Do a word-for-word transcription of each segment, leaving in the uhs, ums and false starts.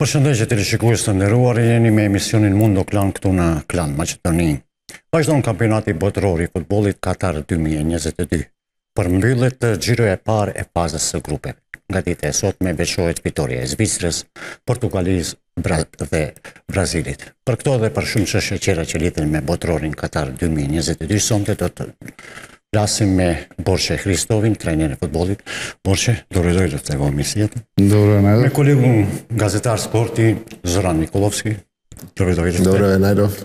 Përshëndetje të rishikues të nderuar, jeni me emisionin Mundo Klan këtu në Klan Maqedoni. Vazhdon kampionati botëror i futbollit Katar dy mijë e njëzet e dy. Përmbyllet xhiroja e parë e fazës së grupeve. Nga dita e sotme veçohet fitoria e Zvicrës, Portugalisë dhe Brazilit. Për këto dhe për shumë çështje tjera që lidhen me botërorin Katar dy mijë e njëzet e dy, sonte do të flasim me Borçe Hristovin, trajner e futbollit. Borçe, dobrodošli v ovu emisiju. Dobro, Najdov. Me kolegun gazetar sporti Zoran Nikolovski. Dobrodošli. Dobro, Najdov.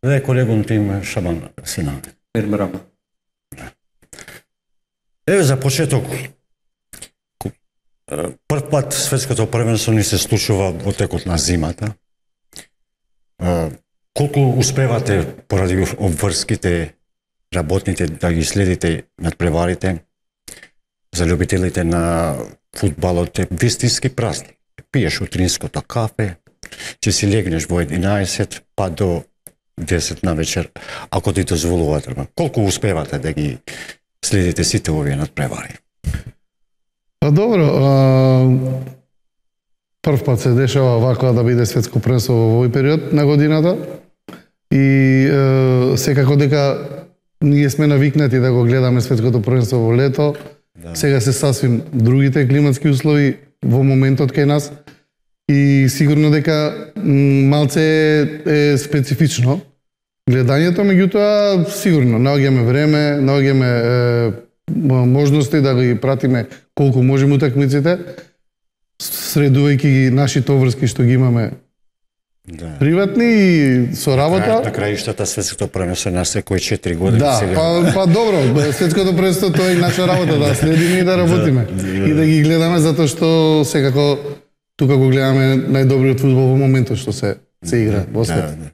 Dhe kolegun tim Shaban Sinan. Mirëmbrëma. Evo za početok, prv put светското првенство ни се случува во текот на зимата. Колку успевате поради обврските работните да ги следите надпреварите за љубителите на фудбалот е вистински празник. Пиеш утринското кафе, ќе си легнеш во единаесет па до десет на вечер, ако ти дозволуваат. Колку успевате да ги следите сите овие надпревари? Па добро, а, прв пат се дешава вака да биде светско првенство во овој период на годината и е, секако дека ние сме навикнати да го гледаме светското првенство во лето. Да. Сега се сасвим другите климатски услови во моментот кај нас и сигурно дека малце е специфично гледањето, меѓутоа сигурно наоѓаме време, наоѓаме е, можности да ги пратиме колку можеме утакмиците, средувајќи ги нашите обврски што ги имаме. Да. Приватни и со работа. На краиштата светското првенство на секој четири години да, сега. Па, па добро, светското првенство тоа е наша работа, да следиме и да работиме. Да, да. И да ги гледаме затоа што секако тука го гледаме најдобриот фудбал во моментот што се се игра во свет. Да, да.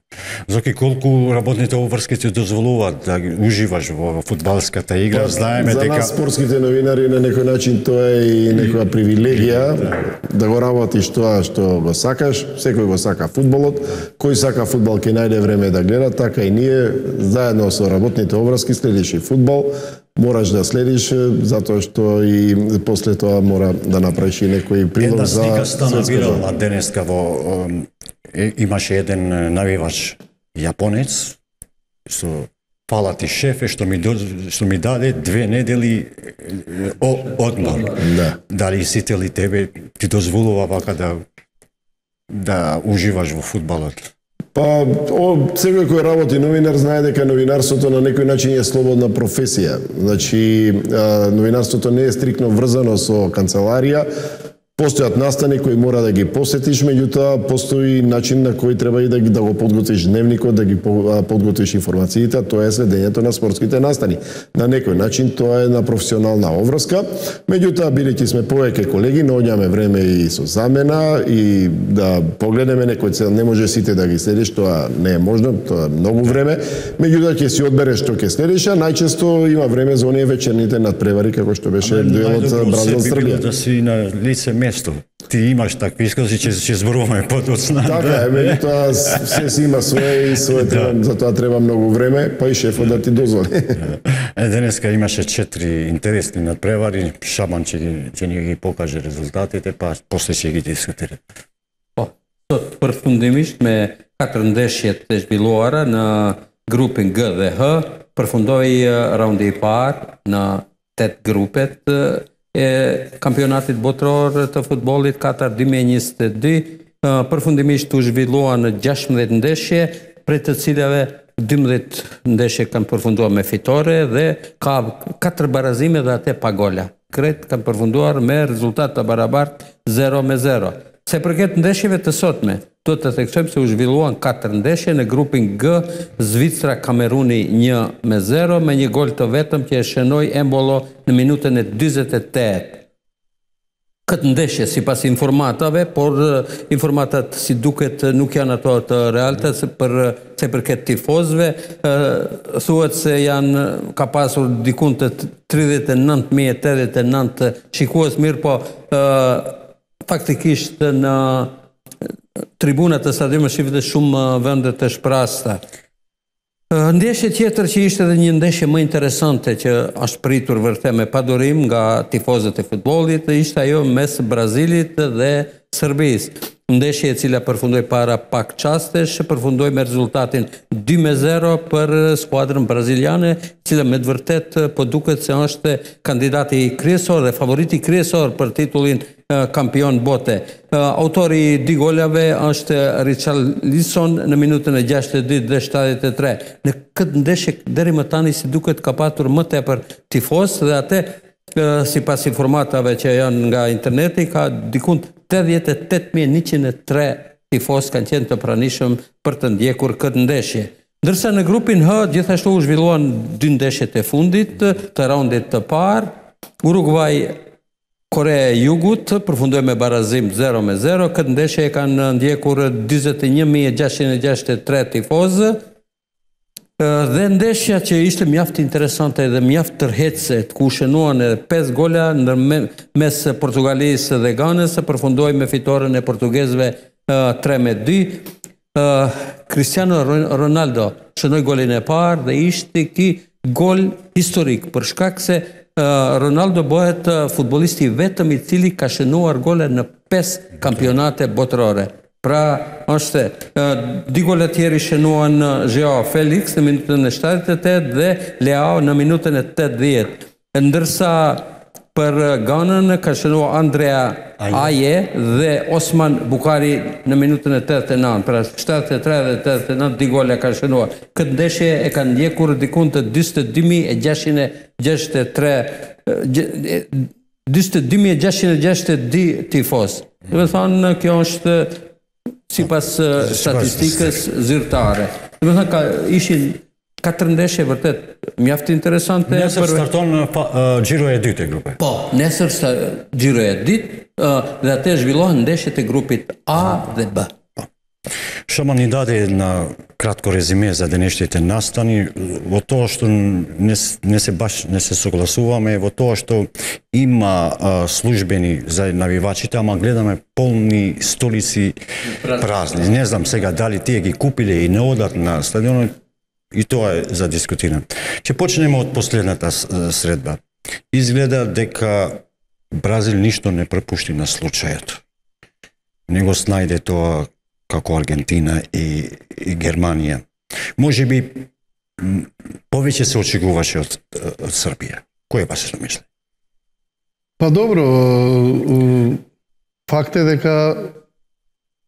Зоки, колку работните обврски ти дозволуваат да уживаш во фудбалската игра, па, знаеме за дека... За нас спортските новинари на некој начин тоа е и некоја привилегија да, да го работиш тоа што го сакаш, секој го сака фудбалот, кој сака фудбал ќе најде време да гледа, така и ние заедно со работните обврски следиш и фудбал, мораш да следиш затоа што и после тоа мора да направиш и некој прилог за една слика стана вирална денеска во Е, имаше еден навивач јапонец со фала ти шефе што ми до, што ми даде две недели о, одмор. Да. Дали сите ли тебе ти дозволува вака да да уживаш во фудбалот? Па, о, секој кој работи новинар знае дека новинарството на некој начин е слободна професија. Значи, а, новинарството не е стрикно врзано со канцеларија. Постојат настани кои мора да ги посетиш, меѓутоа постои начин на кој треба и да, да го подготвиш дневникот, да ги подготвиш информациите, тоа е следењето на спортските настани. На некој начин тоа е на професионална обврска, меѓутоа бидејќи сме повеќе колеги, наоѓаме време и со замена и да погледнеме некој цел, не може сите да ги следиш, тоа не е можно, тоа е многу време, меѓутоа ќе си одбереш што ќе следиш, а најчесто има време за оние вечерните надпревари како што беше дуелот Бразил-Србија. Да си на лице место. Ти имаш такви искоси, ќе ќе зборуваме подоцна. Така е, меѓутоа се си има свое и свое треба, за тоа треба многу време, па и шефот да ти дозволи. Е, денеска имаше четири интересни надпревари, Шабан ќе ќе ни ги покаже резултатите, па после ќе ги дискутира. Po, sot përfundimisht me katër ndeshjet e zhvilluara në grupin G dhe H, përfundoi raundi i parë në tet grupet e kampionatit botëror të futbollit Katar dy mijë e njëzet e dy, përfundimisht u zhvilluan në gjashtëdhjetë ndeshje, prej të cilave dymbëdhjetë ndeshje kanë përfunduar me fitore dhe ka katër barazime dhe atë pa gola. Krejt kanë përfunduar me rezultat të barabartë zero me zero. Se përket ndeshjeve të sotme, do të theksojmë se u zhvilluan katër ndeshje në grupin G, Zvicra Kameruni një me zero me një gol të vetëm që e shënoi Embolo në minutën e dyzet e tetë. Këtë ndeshje sipas informatave, por informatat si duket nuk janë ato të realta se për se përket tifozëve, thuhet se janë ka pasur diku të tridhjetë e nëntë mijë e tetëdhjetë e nëntë shikues, mirë po faktikisht në tribunat e stadiumit shihet shumë vende të shprasta. Ndeshje tjetër që ishte edhe një ndeshje më interesante që është pritur vërtet me padurim nga tifozët e futbollit ishte ajo mes Brazilit dhe Serbisë. ndeshje e cila përfundoi para pak çastesh, përfundoi me rezultatin dy me zero për skuadrën braziliane, e cila me të vërtet po duket se është kandidati kryesor dhe favoriti kryesor për titullin kampion bote. Autori i dy golave është Richarlison në minutën e gjashtëdhjetë e dytë dhe shtatëdhjetë e tre. Në këtë ndeshje deri më tani si duket ka patur më tepër tifoz dhe atë sipas informatave që janë nga interneti ka dikun tetëdhjetë e tetë mijë e njëqind e tre tifoz kanë qenë të pranishëm për të ndjekur këtë ndeshje. Ndërsa në grupin H gjithashtu u zhvilluan dy ndeshjet e fundit të raundit të parë. Uruguay Korea e Jugut përfundoi me barazim zero me zero. Këtë ndeshje e kanë ndjekur dyzet e një mijë e gjashtëqind e gjashtëdhjetë e tre tifozë. Dhe ndeshja që ishte mjaft interesante dhe mjaft tërheqëse, ku shënuan edhe pesë gola ndërmes Portugalisë dhe Ganës, përfundoi me fitoren e portugezëve tre me dy. Cristiano Ronaldo shënoi golin e parë dhe ishte ky gol historik për shkak se Ronaldo bëhet futbollisti i vetëm i cili ka shënuar gole në pesë kampionate botërore. Pra, është dy gole tjerë shënuan Joao Felix në minutën e shtatëdhjetë e tetë dhe Leao në minutën e tetëdhjetë. Ndërsa për Ganën ka shënuar Andrea Aje dhe Osman Bukari në minutën e tetëdhjetë e nëntë. Pra shtatëdhjetë e tre dhe tetëdhjetë e nëntë dy gole ka shënuar. Këtë ndeshje e kanë ndjekur dikun të dyzet e dy mijë e gjashtëqind e gjashtëdhjetë e tre dyzet e dy mijë e gjashtëqind e gjashtëdhjetë e dy tifoz. Do të thonë kjo është sipas statistikës zyrtare. Do të thonë ka ishin katër ndeshje vërtet mjaft interesante. Nesër starton gjiroja e dytë e grupit. Po, nesër gjiroja e dytë dhe atë zhvillohen ndeshjet e grupit A dhe B. Što man ni dade na kratko rezime za današnje nastani, во тоа што не, не се баш не се согласуваме, во тоа што има а, службени за навивачите, ама гледаме полни столици празни. Не знам сега дали тие ги купиле и не одат на стадионот, и тоа е за дискутиране. Ќе почнеме од последната средба. Изгледа дека Бразил ништо не препушти на случајот. Не го снајде тоа како Аргентина и, и Германија. Може би повеќе се очекуваше од, од Србија. Кој е вашето мишлење? Па добро, факт е дека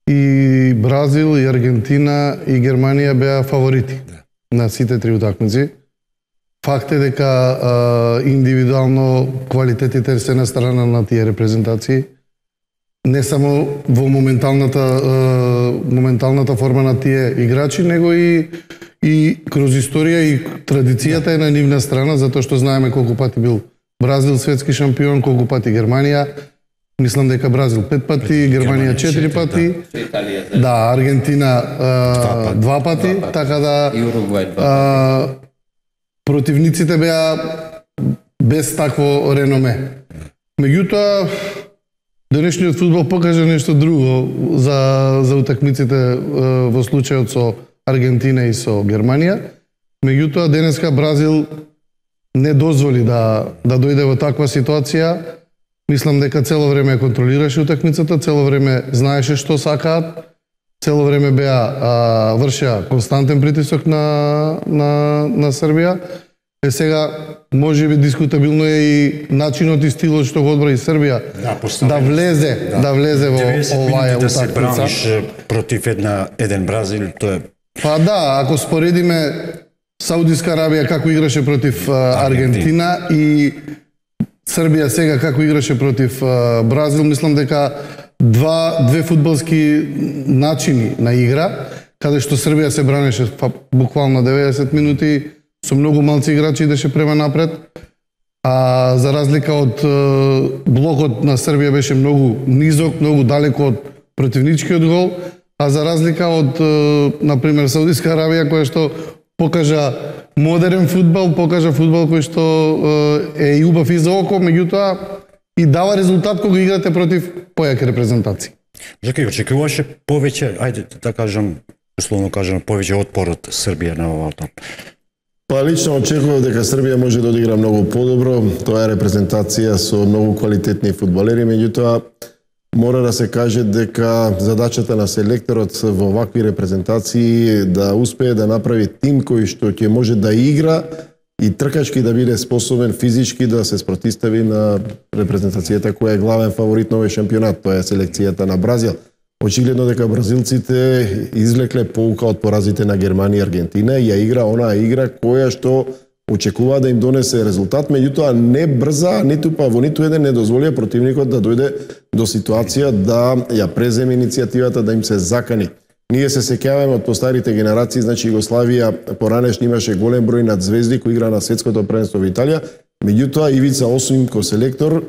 и Бразил, и Аргентина, и Германија беа фаворити да. На сите три утакмици. Факт е дека а, индивидуално квалитетите се на страна на тие репрезентации. Не само во моменталната моменталната форма на тие играчи, него и и кроз историја и традицијата е на нивна страна, затоа што знаеме колку пати бил Бразил светски шампион, колку пати Германија. Мислам дека Бразил пет пати, Германија четири пати. Да, да Аргентина а, два пати, два пати, така да и Уругвај два пати. Противниците беа без такво реноме. Меѓутоа денешниот фудбал покажа нешто друго за, за утакмиците во случајот со Аргентина и со Германија. Меѓутоа, денеска Бразил не дозволи да, да дојде во таква ситуација. Мислам дека цело време контролираше утакмицата, цело време знаеше што сакаат, цело време беа а, вршеа константен притисок на, на, на Србија. Е сега, може би дискутабилно е и начинот и стилот што го одбра и Србија да, да влезе, да, да влезе во оваа утакмица. Да се браниш против една еден Бразил, тоа е. Па да, ако споредиме Саудиска Арабија како играше против Аргентина и Србија сега како играше против Бразил, мислам дека два две фудбалски начини на игра, каде што Србија се бранеше буквално деветдесет минути со многу малци играчи идеше према напред, а за разлика од блокот на Србија беше многу низок, многу далеко од противничкиот гол, а за разлика од, например, Саудиска Арабија, која што покажа модерен фудбал, покажа фудбал кој што е и убав и за око, меѓутоа и дава резултат кога играте против појаки репрезентации. Жаки, очекуваше повеќе, ајде да кажам, условно кажам, повеќе отпор од Србија на оваа. Па лично очекував дека Србија може да одигра многу подобро. Тоа е репрезентација со многу квалитетни фудбалери, меѓутоа мора да се каже дека задачата на селекторот во вакви репрезентации да успее да направи тим кој што ќе може да игра и тркачки да биде способен физички да се спротистави на репрезентацијата која е главен фаворит на овој шампионат, тоа е селекцијата на Бразил. Очигледно дека бразилците извлекле поука од поразите на Германија и Аргентина и ја игра онаа игра која што очекува да им донесе резултат, меѓутоа не брза, ниту па во ниту еден не дозволија противникот да дојде до ситуација да ја преземе иницијативата, да им се закани. Ние се сеќаваме од постарите генерации, значи Југославија поранешно имаше голем број над звезди кои игра на светското првенство во Италија, меѓутоа Ивица Осим ко селектор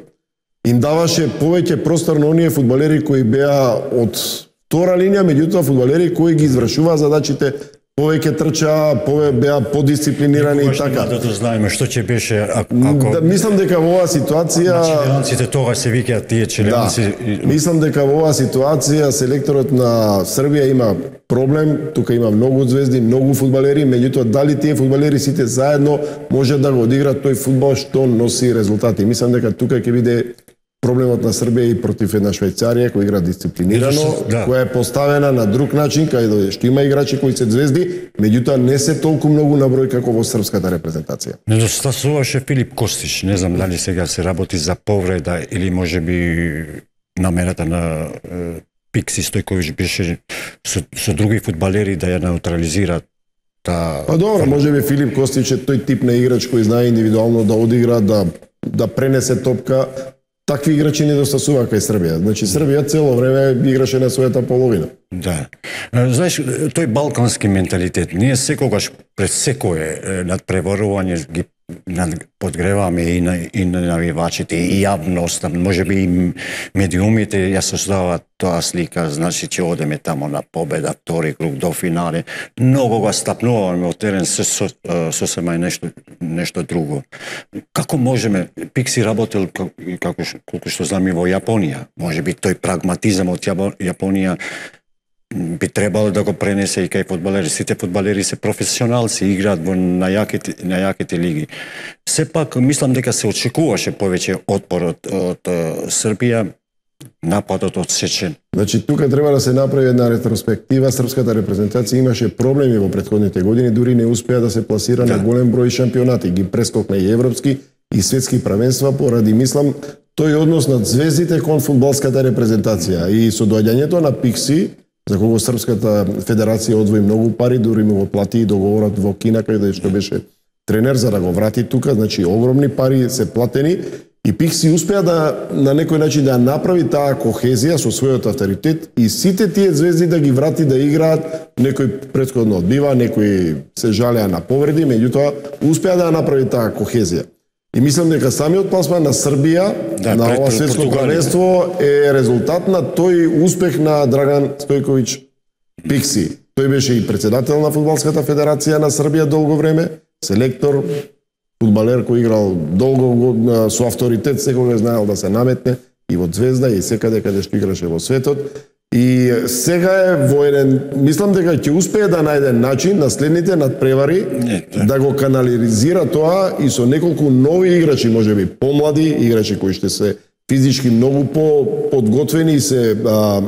им даваше повеќе простор на оние фудбалери кои беа од втора линија, меѓутоа фудбалери кои ги извршуваа задачите, повеќе трчаа, пове беа подисциплинирани и така. Да знаеме што ќе беше ако да, мислам дека во оваа ситуација членците тогаш се викаат тие членци. Да, мислам дека во оваа ситуација селекторот на Србија има проблем, тука има многу звезди, многу фудбалери, меѓутоа дали тие фудбалери сите заедно може да го одиграат тој фудбал што носи резултати. Мислам дека тука ќе биде проблемот на Србија и против една Швајцарија која игра дисциплинирано, да. која е поставена на друг начин, каде што има играчи кои се звезди, меѓутоа не се толку многу на број како во српската репрезентација. Недостасуваше Филип Костич, не знам дали сега се работи за повреда или можеби намерата на е, Пикси Стојковиќ беше со, со други фудбалери да ја неутрализираат. Та... Па добро, можеби Филип Костич е тој тип на играч кој знае индивидуално да одигра, да да пренесе топка. Такви играчи недостасува кај Србија. Значи Србија цело време играше на својата половина. Да. Знаеш, тој балкански менталитет, ние секогаш пред секое надпреварување ги подгреваме и на и на навивачите и јавноста, можеби и медиумите ја создаваат тоа слика, значи ќе одеме тамо на победа, втори круг до финале. Многу го стапнуваме од терен со со, сосема нешто нешто друго. Како можеме, Пикси работел како колку што знам и во Јапонија, можеби тој прагматизам од Јапонија би требало да го пренесе и кај фудбалери. Сите фудбалери се професионалци, играат во најаките најаките лиги. Сепак мислам дека се очекуваше повеќе отпор од, од Србија, нападот одсечен. Значи тука треба да се направи една ретроспектива. Српската репрезентација имаше проблеми во претходните години, дури не успеа да се пласира да. на голем број шампионати, ги прескокна и европски и светски правенства поради мислам тој однос на звездите кон фудбалската репрезентација и со доаѓањето на Пикси, за кого Српската федерација одвои многу пари, дури му го плати и договорот во Кина каде што беше тренер за да го врати тука, значи огромни пари се платени и Пикси успеа да на некој начин да направи таа кохезија со својот авторитет и сите тие звезди да ги врати да играат, некој претходно одбива, некои се жалеа на повреди, меѓутоа успеа да направи таа кохезија. И мислам дека самиот пласман на Србија да, на ова светско првенство е резултат на тој успех на Драган Стојковиќ Пикси. Тој беше и председател на фудбалската федерација на Србија долго време, селектор, фудбалер кој играл долго со авторитет, секогаш знаел да се наметне и во Звезда и секаде каде што играше во светот. И сега е во еден, мислам дека ќе успее да најде начин на следните надпревари да. да го канализира тоа и со неколку нови играчи, можеби помлади играчи кои ще се физички многу по подготвени и се а,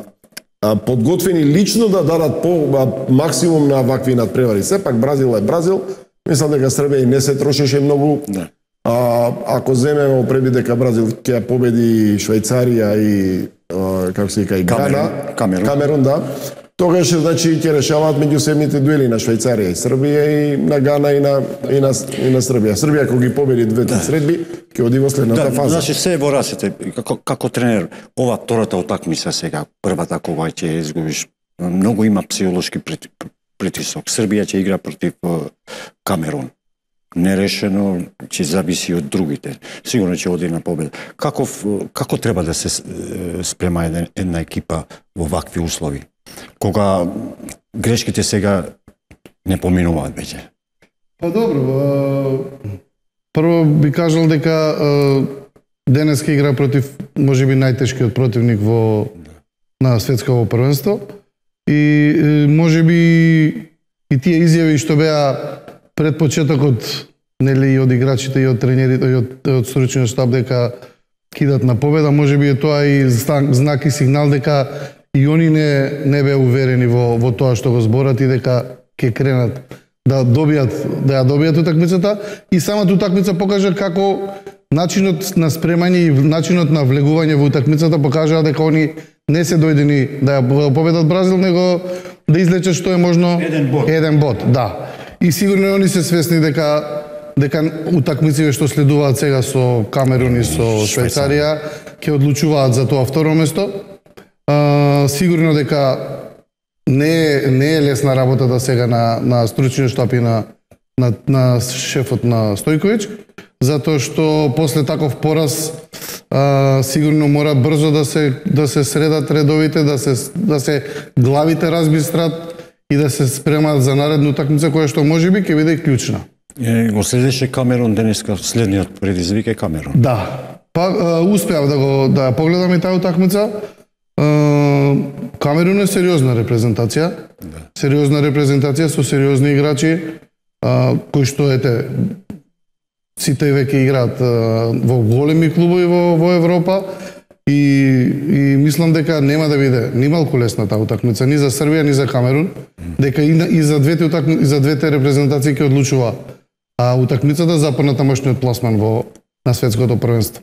а, подготвени лично да дадат по а, максимум на вакви надпревари. Сепак Бразил е Бразил. Мислам дека Србија и не се трошеше многу. Да. А, ако земеме опреби дека Бразил ќе победи Швајцарија и а, како се вика и Гана, Камерун. Камерун, да. Тогаш значи ќе решаваат меѓусебните дуели на Швајцарија и Србија и на Гана и на и на, и на Србија. Србија кога ги победи двете да. средби, ќе оди во следната да, фаза. Значи се во рацете, како како тренер, ова втората утакмица сега, првата кога ќе изгубиш, многу има психолошки притисок. Србија ќе игра против Камерун. Нерешено, ќе зависи од другите. Сигурно ќе оди на победа. Како како треба да се спрема една, една екипа во вакви услови? Кога грешките сега не поминуваат веќе? Па добро, прво би кажал дека денеска игра против можеби најтешкиот противник во на светсково првенство и можеби и тие изјави што беа пред почетокот, нели и од играчите и од тренерите и од, од стручниот штаб дека кидат на победа, можеби е тоа и знак и сигнал дека и они не не беа уверени во во тоа што го зборат и дека ќе кренат да добијат да ја добијат утакмицата и самата утакмица покажа како начинот на спремање и начинот на влегување во утакмицата покажаа дека они не се дојдени да ја победат Бразил, него да излечат што е можно еден бод. Еден бод, да. И сигурно они се свесни дека дека утакмиците што следуваат сега со Камерун и со Швајцарија ќе одлучуваат за тоа второ место. А, сигурно дека не е, не е лесна работата сега на на стручниот штаб и на на на шефот на Стојковиќ, затоа што после таков пораз а, сигурно мора брзо да се да се средат редовите, да се да се главите разбистрат и да се спремаат за наредна утакмица која што можеби ќе биде клучна. Е, го следеше Камерун денеска, следниот предизвик е Камерун. Да. Па успеав да го да погледам и таа утакмица. Камерун е сериозна репрезентација. Да. Сериозна репрезентација со сериозни играчи а, кои што ете сите веќе играат а, во големи клубови во во Европа и и мислам дека нема да биде ни малку лесна таа утакмица ни за Србија ни за Камерун, дека и, и за двете утакмици и за двете репрезентации ќе одлучува а утакмицата за понатамошниот пласман во на светското првенство.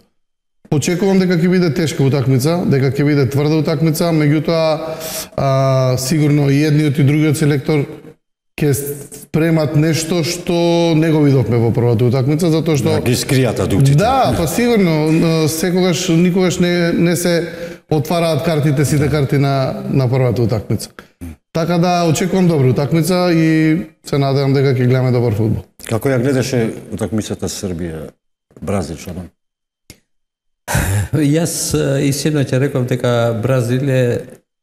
Очекувам дека ќе биде тешка утакмица, дека ќе биде тврда утакмица, меѓутоа а, сигурно и едниот и другиот селектор ќе спремат нешто што не го видовме во првата утакмица, затоа што да, ги скријат адуктите. Да, па сигурно секогаш никогаш не не се отвараат картите сите карти на на првата утакмица. Така да очекувам добра утакмица и се надевам дека ќе гледаме добар фудбал. Како ја гледаше утакмицата Србија Бразил, Шабан? Јас и синоќа реков дека Бразил е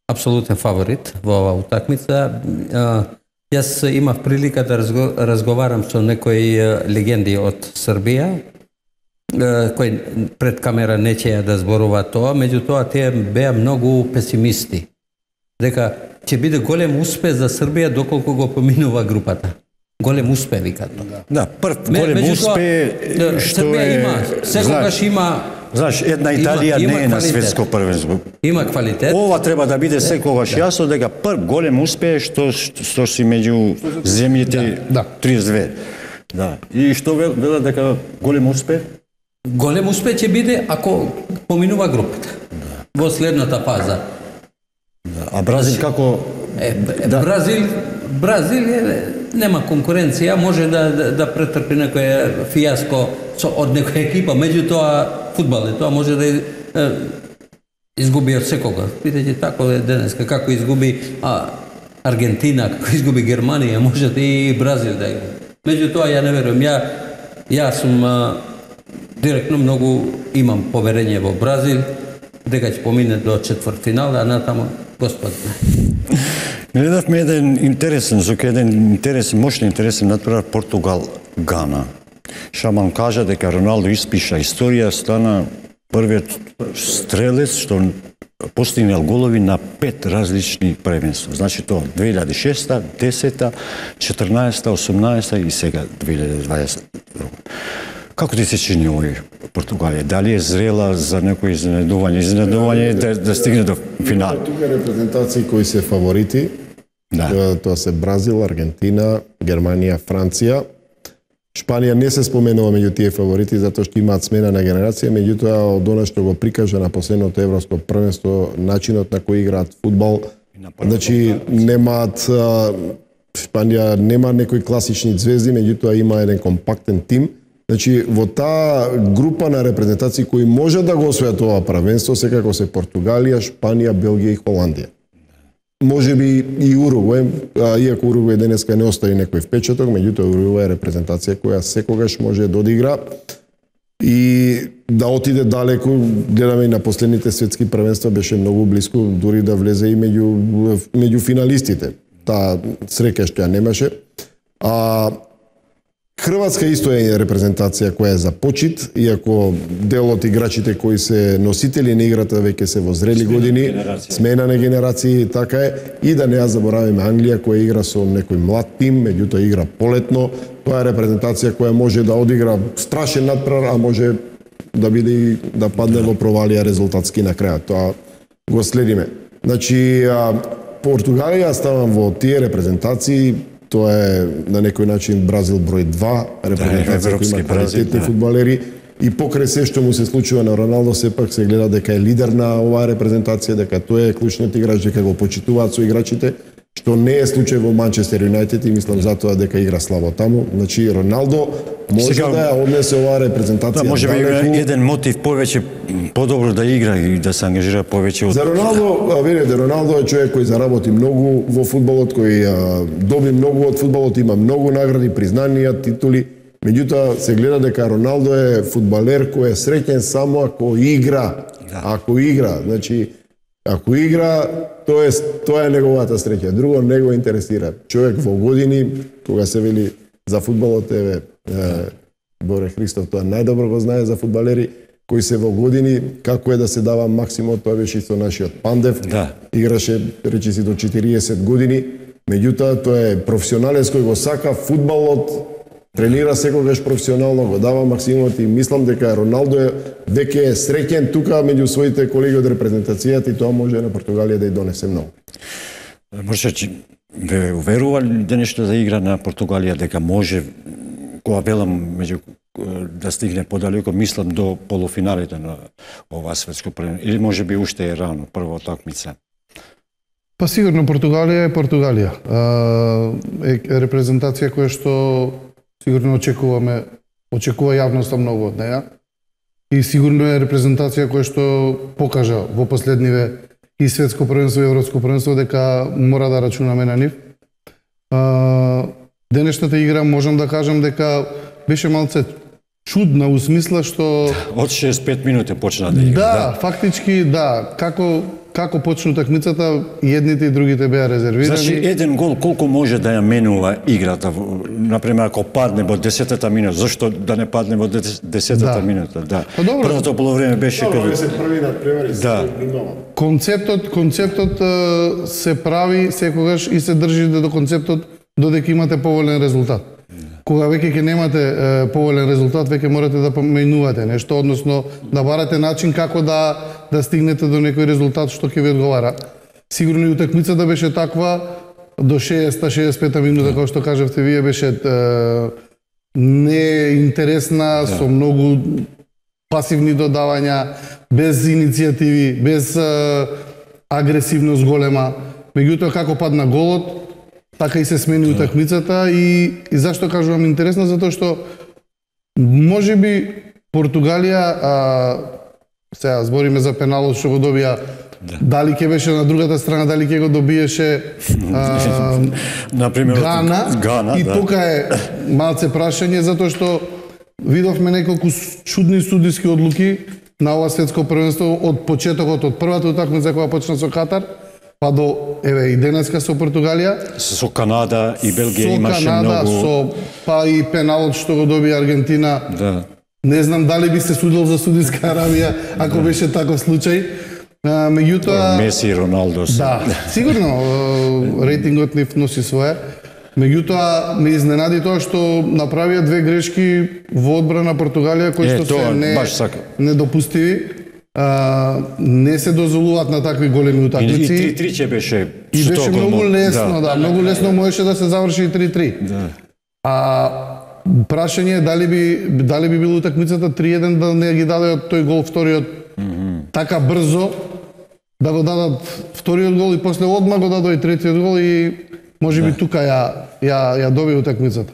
апсолутен фаворит во оваа утакмица. Јас имав прилика да разговарам со некои легенди од Србија, кои пред камера не ќе да зборуваат тоа, меѓутоа тие беа многу песимисти. Дека ќе биде голем успех за Србија доколку го поминува групата. Голем успех, викаат. Да, прв голем успех што Србија е... има, секогаш има... Знаеш, една Италија има, не е на светско првенство. Има квалитет. Ова треба да биде секогаш да. Јасно дека прв голем успех што што си меѓу земјите да. триесет две. Да. И што велат дека голем успех? Голем успех ќе биде ако поминува групата. Да. Во следната фаза. Да. А Бразил како е, да. Бразил Бразил е, нема конкуренција, може да да, да претрпи некој фијаско со од некоја екипа, меѓутоа фудбал е тоа, може да е, изгуби од секога. Видите, тако е денеска, како изгуби а, Аргентина, како изгуби Германија, може да и Бразил да игра. Меѓутоа, ја не верувам, ја, ја сум а, директно многу имам поверење во Бразил, дека ќе помине до четвртфинал, а натаму Господ знае. Гледавме еден интересен, со еден интересен, мощно интересен натпревар Португал-Гана. Шаман кажа дека Роналдо испиша историја, стана првиот стрелец што постигнал голови на пет различни првенства. Значи тоа две илјади и шеста, десета, четрнаесета, осумнаесета и сега две илјади и дваесета. Како ти се чини овој Португалија? Дали е зрела за некој изненадување? Изненадување да, да стигне до финал? Тука репрезентации кои се фаворити. Да. Тоа се Бразил, Аргентина, Германија, Франција. Шпанија не се споменува меѓу тие фаворити затоа што имаат смена на генерација, меѓутоа од она што го прикажа на последното европско првенство, начинот на кој играат фудбал, значи немаат Шпанија нема некои класични звезди, меѓутоа има еден компактен тим. Значи во таа група на репрезентации кои може да го освојат ова првенство, секако се Португалија, Шпанија, Белгија и Холандија. Може би и Уругвај, иако Уругвај денеска не остави некој впечаток, меѓутоа Уругвај е репрезентација која секогаш може да одигра и да отиде далеку. Гледаме и на последните светски првенства беше многу близко, дури да влезе и меѓу меѓу финалистите. Таа среќа што ја немаше. А Хрватска исто е репрезентација која е за почит, иако дел од играчите кои се носители на играта веќе се во зрели години, смена на генерации, така е, и да не ја заборавиме Англија која игра со некој млад тим, меѓутоа игра полетно. Тоа е репрезентација која може да одигра страшен надпревар, а може да биде и да падне во провалија резултатски на крајот. Тоа го следиме. Значи, а, Португалија ставам во тие репрезентации, тоа е на некој начин Бразил број два, репрезентација која има квалитетни фудбалери, и покрај се што му се случува на Роналдо, сепак се гледа дека е лидер на оваа репрезентација, дека тој е клучниот играч, дека го почитуваат со играчите, што не е случај во Манчестер Юнајтед и мислам затоа дека игра слабо таму. Значи Роналдо може сега, да ја однесе оваа репрезентација. Да, може би еден мотив повеќе подобро да игра и да се ангажира повеќе од... За Роналдо, видите, Роналдо е човек кој заработи многу во фудбалот, кој а, доби многу од фудбалот, има многу награди, признанија, титули. Меѓутоа се гледа дека Роналдо е фудбалер кој е среќен само ако игра. Да. Ако игра, значи ако игра, тоа е тоа е неговата среќа. Друго не го интересира. Човек во години, кога се вели за фудбалот, еве Боре Христов тоа најдобро го знае за фудбалери кои се во години, како е да се дава максимум, тоа беше и со нашиот Пандев. Да. Играше речиси до четириесет години, меѓутоа тоа е професионалец кој го сака фудбалот, тренира секогаш професионално, го дава максимумот и мислам дека Роналдо е веќе е среќен тука меѓу своите колеги од репрезентацијата и тоа може на Португалија да и донесе многу. Може че ве уверува денешто да игра на Португалија дека може, кога велам меѓу да стигне подалеку, мислам до полуфиналите на ова светско првенство, или може би уште е рано прва такмица? Па сигурно Португалија е Португалија. Е репрезентација која што сигурно очекуваме, очекува јавноста многу од неја. И сигурно е репрезентација која што покажа во последниве и светско првенство и европско првенство дека мора да рачунаме на нив. Денешната игра можам да кажам дека беше малце чудна у смисла што од шеесет и пет минути почна да игра. Да, да, фактички да, како како почну такмицата, и едните и другите беа резервирани. Значи еден гол колку може да ја менува играта? Например, ако падне во десетата минута, зашто да не падне во десетата да. минута? Да. Па добро. Првото полувреме беше каде се први на превари да. Концептот, концептот се прави секогаш и се држи до концептот додека имате поволен резултат. Кога веќе ќе немате е, поволен резултат, веќе морате да поменувате нешто, односно да барате начин како да да стигнете до некој резултат што ќе ви одговара. Сигурно и утакмицата беше таква до шеесета шеесет и пета минута, како што кажавте вие, беше е, неинтересна, да. Со многу пасивни додавања, без иницијативи, без е, агресивност голема. Меѓутоа како падна голот, така и се смени утакмицата и, и зашто кажувам интересно, затоа што може би Португалија, а, сега збориме за пеналот што го добија, да. Дали ќе беше на другата страна, дали ќе го добиеше а, например Гана, Гана и да. тука е малце прашање, затоа што видовме неколку чудни судиски одлуки на ова светско првенство од почетокот, од првата утакмица која почна со Катар, па до, еве, и денеска со Португалија. Со Канада и Белгија имаше Канада, многу... Со па и пеналот што го доби Аргентина. Да. Не знам дали би се судил за Судиска Арабија, ако да. Беше таков случај. А, меѓутоа... Меси и Роналдо се. Да, сигурно, рейтингот нив носи свое. Меѓутоа, ме изненади тоа што направија две грешки во одбрана Португалија, кои што се не, недопустиви. А, не се дозволуваат на такви големи утакмици. И три-три ќе беше. И беше многу лесно, да, да многу лесно можеше да се заврши и три-три. Да. А прашање е дали би дали би било утакмицата три еден да не ги даде тој гол вториот mm -hmm. така брзо, да го дадат вториот гол и после одма го дадоа и третиот гол и можеби да. Тука ја ја ја доби утакмицата.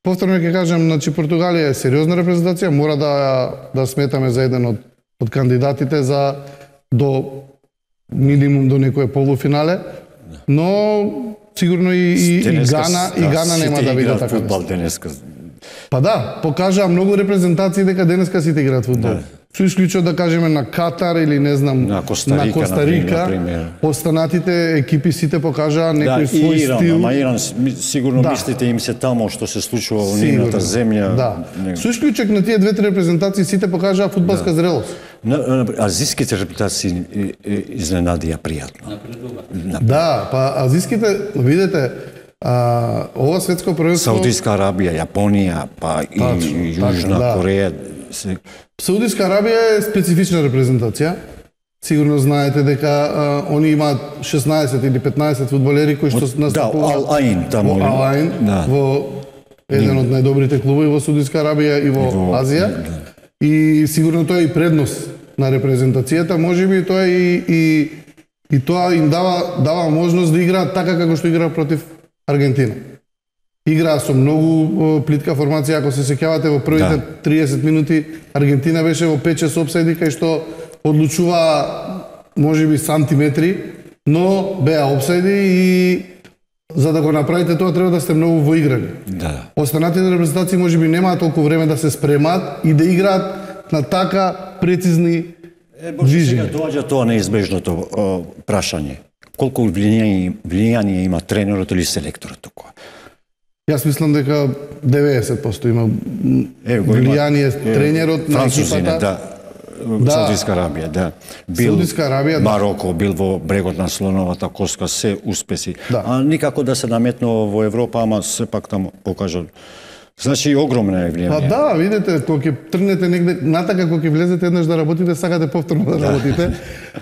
Повторно ќе кажам, значи Португалија е сериозна репрезентација, мора да да сметаме за еден од од кандидатите за до минимум до некое полуфинале, но сигурно и, и, и Гана и Гана нема да биде така. Фудбал денеска. Па да, покажа многу репрезентации дека денеска сите играат фудбал. Да. Со исклучок да кажеме на Катар или не знам на Коста Рика, на Коста Рика, останатите екипи сите покажаа некој да, свој Иран, стил. Ама Иран сигурно да. Мислите им се тамо што се случува во нивната земја. Да. Со исклучок на тие две-три репрезентации сите покажаа фудбалска да. Зрелост. На, азиските репутации изненадија пријатно. Да, па азиските, видите, а, ова светско првенство... Саудиска Арабија, Јапонија, па и, и Јужна да. Кореја. се... Саудиска Арабија е специфична репрезентација. Сигурно знаете дека а, они имаат шеснаесет или петнаесет фудбалери кои што Да, настапуваат Ал Аин таму. во Ал Аин, Да. во еден од најдобрите клубови во Саудиска Арабија и во, И во- Азија. да. И сигурно тоа е и предност на репрезентацијата, можеби тоа и и и тоа им дава дава можност да играат така како што играа против Аргентина. Играа со многу о, плитка формација, ако се сеќавате во првите Да. триесет минути Аргентина беше во пет-шест опсајди кај што одлучува можеби сантиметри, но беа опсајди и за да го направите тоа треба да сте многу воиграни. Да. Останатите репрезентации можеби немаат толку време да се спремаат и да играат на така прецизни Е, може сега движења. доаѓа тоа неизбежното о, прашање. Колку влијание, влијание има тренерот или селекторот тука? Јас мислам дека деветдесет проценти има м, Е, го има- влијание е, тренерот на Французине, екипата. да. Да. Саудиска Арабија, да. Бил Саудиска Арабија, да. Мароко, бил во брегот на слоновата коска, се успеси. Да. А никако да се наметнува во Европа, ама сепак таму покажа. Значи огромна е Па влијание. да, видите, кога ќе тргнете негде, натака кога ќе влезете еднаш да работите, сакате повторно да работите,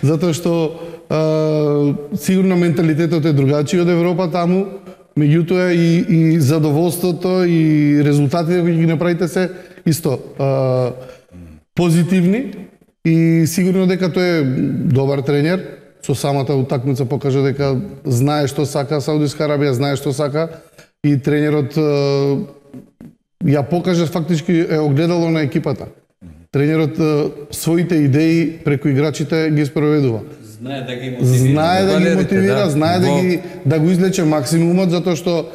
затоа што а, сигурно менталитетот е другачи од Европа таму, меѓутоа и, и задоволството и резултатите кои ги направите се исто а, позитивни и сигурно дека тој е добар тренер, со самата утакмица покажа дека знае што сака Саудиска Арабија, знае што сака и тренерот а, ја покажа фактички е огледало на екипата. Тренерот е, своите идеи преку играчите ги спроведува. Знае да ги мотивира. Знае да ги фудбалерите, мотивира, знае да Во- ги да го излече максимумот затоа што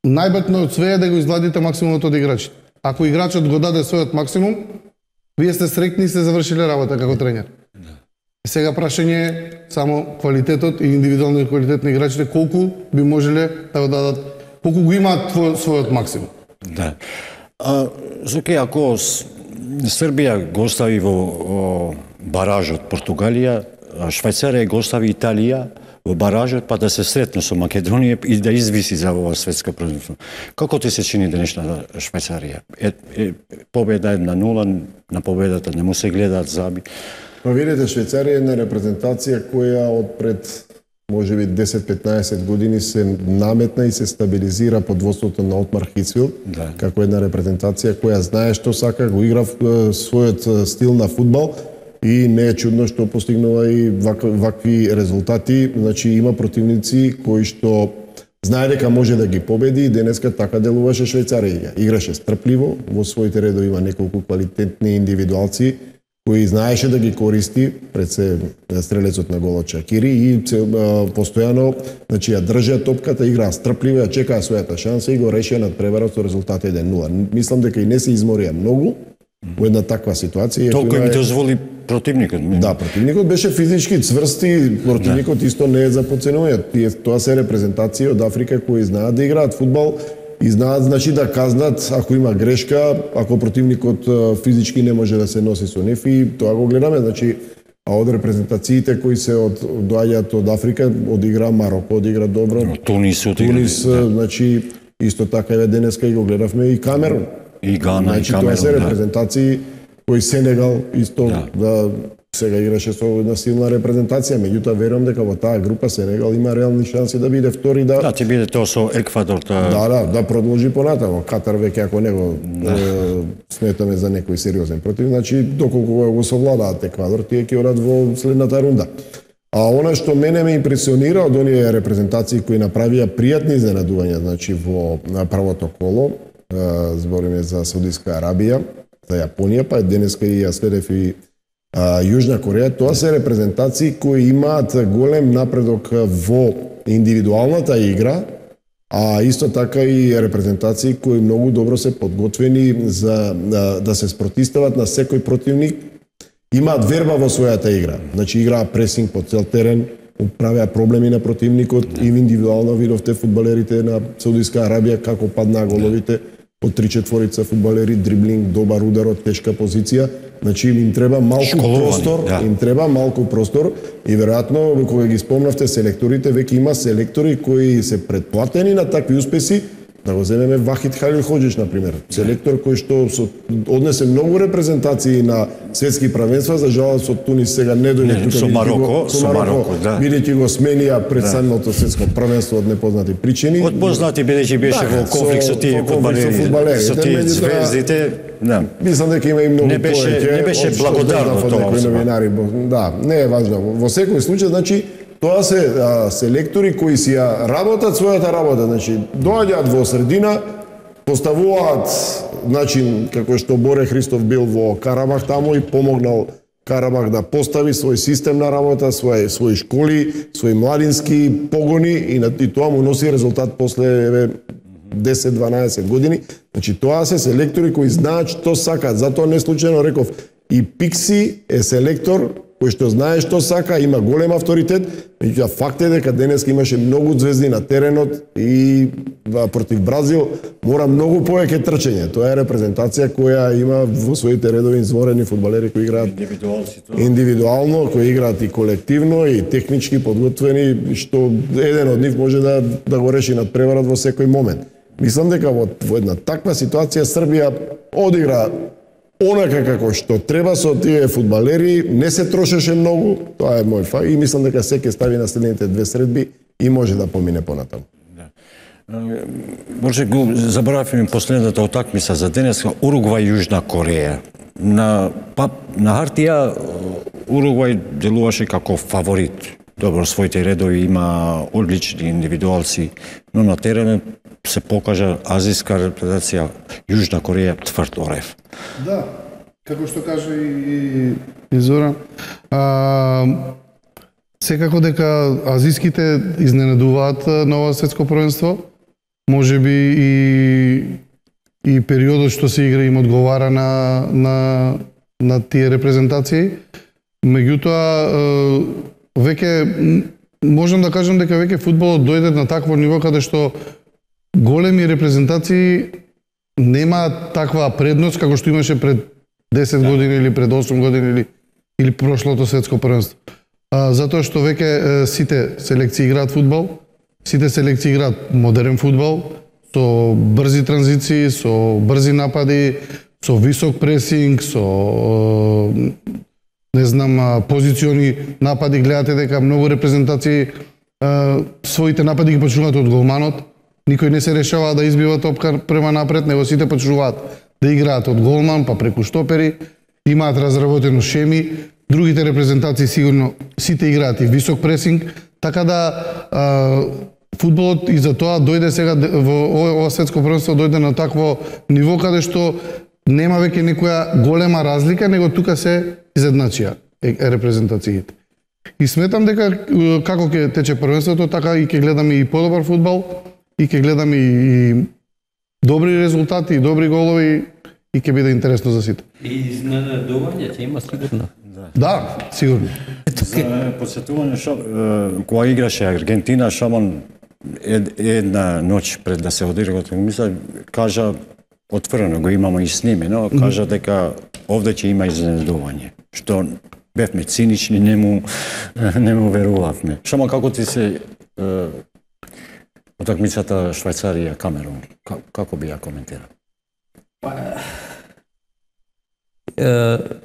најбитно од све е да го изгладите максимумот од играчите. Ако играчот го даде својот максимум, вие сте среќни и сте завршиле работа како тренер. Сега прашање е само квалитетот и индивидуалниот квалитет на играчите колку би можеле да го дадат, колку го имаат твој- својот максимум. Да. А, Зуке, ако с- Србија го остави во о, баражот Португалија, а Швајцарија го остави Италија во баражот, па да се сретне со Македонија и да извиси за ова светско првенство. Како ти се чини денешната Швајцарија? Е, е, победа една нула, на победата не му се гледаат заби. Па видите, Швајцарија е една репрезентација која од пред можеби десет-петнаесет години се наметна и се стабилизира под водството на Отмар Хицвил, Да. како една репрезентација која знае што сака, го игра е, својот е, стил на фудбал и не е чудно што постигнува и вак, вакви резултати. Значи има противници кои што знае дека може да ги победи и денеска така делуваше Швајцарија. Играше стрпливо, во своите редови има неколку квалитетни индивидуалци кои знаеше да ги користи пред се стрелецот на голот Чакири и се, а, постојано значи ја држаа топката, играа стрпливо, ја чекаа својата шанса и го решија надпреварот со резултат еден нула. Мислам дека и не се изморија многу во една таква ситуација. Иако Толку им има- дозволи противникот. Да, противникот беше физички цврст и противникот исто не е за подценување. Тие тоа се репрезентации од Африка кои знаат да играат фудбал и знаат значи да казнат ако има грешка, ако противникот е, физички не може да се носи со нив и тоа го гледаме, значи а од репрезентациите кои се од доаѓаат од Африка, одигра Мароко, одигра добро. Тунис отигра. Тунис, значи исто така еве денеска и го гледавме и Камерун. И Гана, Значи и тоа се Камерун, да. репрезентации кои Сенегал исто Да. да сега играше со една силна репрезентација, меѓутоа верувам дека во таа група Сенегал има реални шанси да биде втори да Да, ти биде тоа со Еквадор. Та... да, да, да продолжи понатамо. Катар веќе ако не го е, сметаме за некој сериозен против, значи доколку го совладаат Еквадор, тие ќе одат во следната рунда. А она што мене ме импресионира од оние репрезентации кои направија пријатни изненадувања, значи во на првото коло, е, збориме за Саудиска Арабија, за Јапонија, па денеска и ја следев и а, Јужна Кореја, тоа се репрезентации кои имаат голем напредок во индивидуалната игра, а исто така и репрезентации кои многу добро се подготвени за да, да се спротистават на секој противник. Имаат верба во својата игра. Значи играа пресинг по цел терен, правеа проблеми на противникот и индивидуално видовте фудбалерите на Саудиска Арабија како паднаа головите од три-четворица фудбалери, дриблинг, добар удар од тешка позиција. Значи им треба малку Школувани, простор, да. им треба малку простор и веројатно кога ги спомнавте селекторите, веќе има селектори кои се предплатени на такви успеси Да го земеме Вахид Халилходжич, например, селектор кој што со, однесе многу репрезентации на светски правенства, за жалост со Тунис сега не дојде тука. Со Мароко, со Мароко, да. Бидејќи го сменија пред самото светско правенство од непознати причини. Од познати бидејќи беше во конфликт со тие фудбалери, со тие звездите, да. Мислам дека има и многу не беше, повеќе. Не беше благодарно тоа. Новинари, да, не е важно. Во секој случај, значи, тоа се а, селектори кои си ја работат својата работа, значи доаѓаат во средина, поставуваат начин како што Боре Христов бил во Карабах таму и помогнал Карабах да постави свој систем на работа, свој своји школи, своји младински погони и на и тоа му носи резултат после десет-дванаесет години. Значи тоа се селектори кои знаат што сакаат, затоа не случајно реков и Пикси е селектор кој што знае што сака, има голем авторитет, меѓутоа факт е дека денес имаше многу звезди на теренот и против Бразил мора многу повеќе трчење. Тоа е репрезентација која има во своите редови изворени фудбалери кои играат индивидуално, кои играат и колективно и технички подготвени, што еден од нив може да да го реши надпреварот во секој момент. Мислам дека во, во една таква ситуација Србија одигра онака како што треба со тие фудбалери, не се трошеше многу, тоа е мој факт и мислам дека се ќе стави на следните две средби и може да помине понатаму. Да. Може го заборавме последната утакмица за денес, Уругвај Јужна Кореја. На па, на хартија Уругвај делуваше како фаворит. Добро, своите редови има одлични индивидуалци, но на теренот се покажа азиска репрезентација Јужна Кореја тврд орев. Да, како што кажа и, и Зора, а, секако дека азиските изненадуваат на ова светско првенство, може би и и периодот што се игра им одговара на на на тие репрезентации. Меѓутоа веќе можам да кажам дека веќе фудбалот дојде на такво ниво каде што големи репрезентации нема таква предност како што имаше пред десет години или пред осум години или или прошлото светско првенство. А, затоа што веќе сите селекции играат фудбал, сите селекции играат модерен фудбал со брзи транзиции, со брзи напади, со висок пресинг, со не знам позициони напади. Гледате дека многу репрезентации своите напади ги почнуваат од голманот. Никој не се решава да избива топка према напред, него сите почнуваат да играат од голман, па преку штопери, имаат разработено шеми, другите репрезентации сигурно сите играат и висок пресинг, така да а, фудбалот и за тоа дојде сега во ова светско првенство дојде на такво ниво каде што нема веќе некоја голема разлика, него тука се изедначија репрезентациите. И сметам дека како ќе тече првенството, така и ќе гледаме и подобар фудбал, и ќе гледаме и, и добри резултати, и добри голови, и ќе биде интересно за сите. И изненадување ќе има сигурно. Да, сигурно. За подсетување, кога играше Аргентина, Шаман една ноќ пред да се одигра мисля, кажа, отворено го имаме и снимено, кажа дека овде ќе има изненадување, што бевме цинични, не му, не му верувавме. Шаман, како ти се утакмицата Швајцарија Камерун, како би ја коментирал?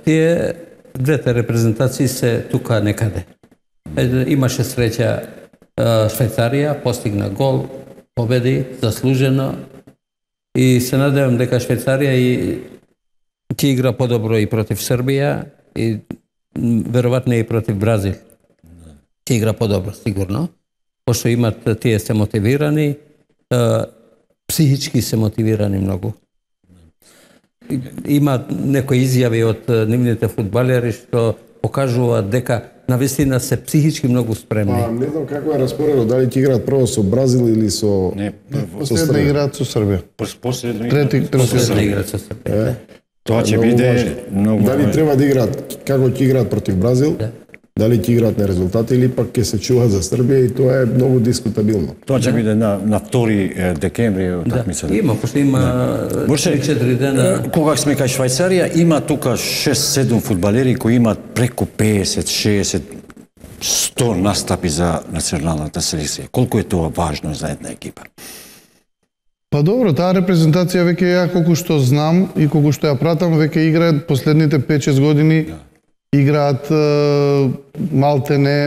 Тие двете репрезентации се тука некаде. Имаше среќа Швајцарија, постигна гол, победи, заслужено и се надевам дека Швајцарија и ќе игра подобро и против Србија и веројатно и против Бразил. Ќе игра подобро, сигурно. Пошто имат, тие се мотивирани, психички се мотивирани многу. Има некои изјави од нивните фудбалери што покажуваат дека навистина се психички многу спремни. Па, не знам како е распоредот, дали ќе играат прво со Бразил или со Не, Последно играат со Србија. последно Трети, Последно трети. играат со Србија. Тоа ќе Многу биде важно. многу. Дали треба да играат, како ќе играат против Бразил, Да. дали ќе играат на резултати или пак ќе се чуваат за Србија и тоа е многу дискутабилно. Тоа ќе биде на на втори декември утакмицата. Да. Има, пошто има Борше, три-четири дена. Кога сме кај Швајцарија, има тука шест-седум фудбалери кои имаат преку песет, шеесет, сто настапи за националната селекција. Колку е тоа важно за една екипа? Па добро, таа репрезентација веќе ја колку што знам и колку што ја пратам, веќе играат последните пет-шест години, играат е, малтене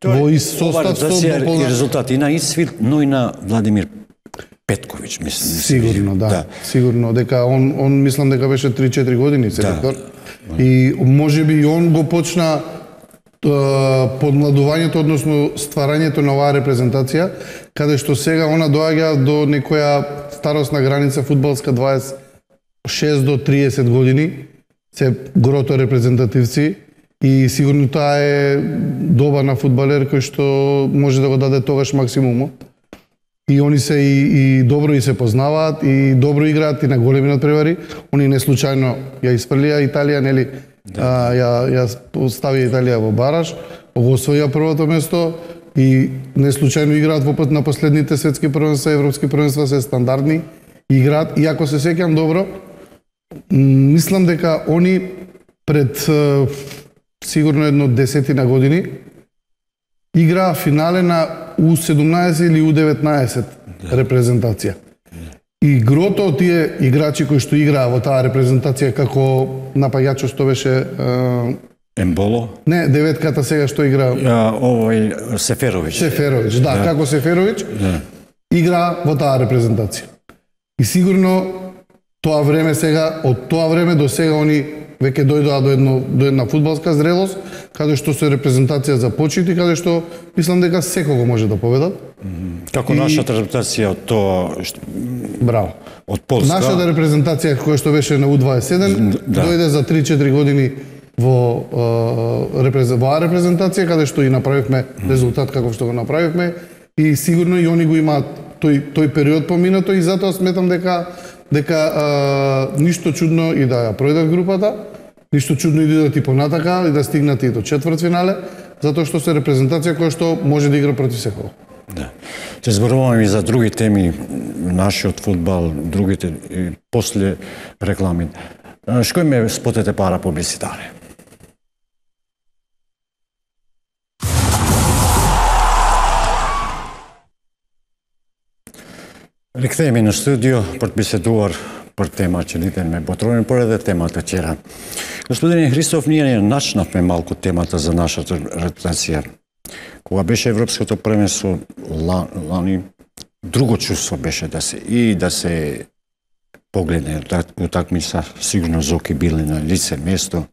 во ист состав со дополна... и резултати и на Исвил, но и на Владимир Петковиќ, мислам. Сигурно, да. да. Сигурно дека он он мислам дека беше три-четири години селектор. Да. И можеби и он го почна подмладувањето, односно стварањето на оваа репрезентација, каде што сега она доаѓа до некоја старосна граница фудбалска дваесет и шест до триесет години, се грото репрезентативци и сигурно таа е доба на фудбалер кој што може да го даде тогаш максимумот. И они се и, и добро и се познаваат и добро играат и на големи надпревари. Они не случајно ја испрлија Италија, нели? Да. А, ја ја ставија Италија во бараж, го освоија првото место и не случајно играат во пат на последните светски првенства, европски првенства се стандардни играат. И ако се сеќам добро, мислам дека они пред сигурно едно десетина години играа финале на У седумнаесет или У деветнаесет репрезентација. И грото од тие играчи кои што играа во таа репрезентација како напаѓачот што беше е... Емболо? Не, деветката сега што игра. Ja, овој Сеферовиќ. Сеферовиќ, да, да. Како Сеферовиќ да. Игра во таа репрезентација. И сигурно тоа време сега, од тоа време до сега они веќе дојдоа до едно до една фудбалска зрелост, каде што се репрезентација започити, каде што мислам дека секого може да победат. Како и... нашата репрезентација од тоа што... Браво. Од Полска. Нашата репрезентација која што беше на У дваесет и седум да. Дојде за три-четири години во е, репрез... во репрезентација каде што и направивме резултат како што го направивме и сигурно и они го имаат тој тој период поминато и затоа сметам дека дека а, ништо чудно и да ја пројдат групата, ништо чудно и да идат и понатака и да стигнат и до четвртфинале, затоа што се репрезентација која што може да игра против секого. Да. Ќе зборуваме и за други теми, нашиот фудбал, другите и после реклами. Шкој ме спотете пара публицитаре? Рекthehemi në studio për të biseduar për tema që lidhen me botrorin, por edhe tema të tjera. Gospodine Hristof, ние начнавме малку темата за нашата репутација. Кога беше Европското првенство лани, друго чувство беше да се и да се погледне утакмица, сигурно Зоки били на лице место.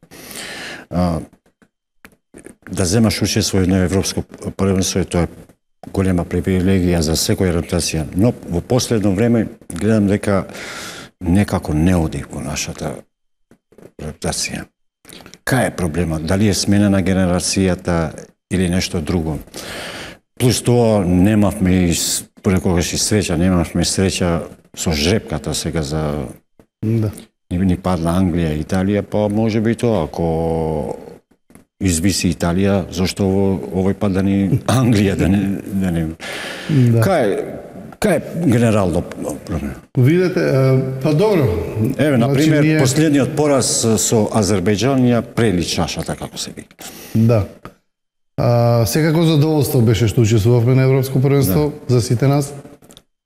Да земаш учество на Европско првенство, тоа е голема привилегија за секоја репутација, но во последно време гледам дека некако не оди во нашата репутација. Кај е проблемот? Дали е смена на генерацијата или нешто друго? Плюс тоа немавме и понекогаш и среќа, немавме среќа со жрепката сега за да. Ни, ни падна Англија и Италија, па може би тоа ако извиси Италија, зашто овој пат да ни Англија да не да не. Да. Кај кај генерално проблем? Видете, па добро. Еве на пример, значи, ние... последниот пораз со Азербејџан ја прели чашата како се вика. Да. А, секако задоволство беше што учествувавме на Европско првенство да. За сите нас.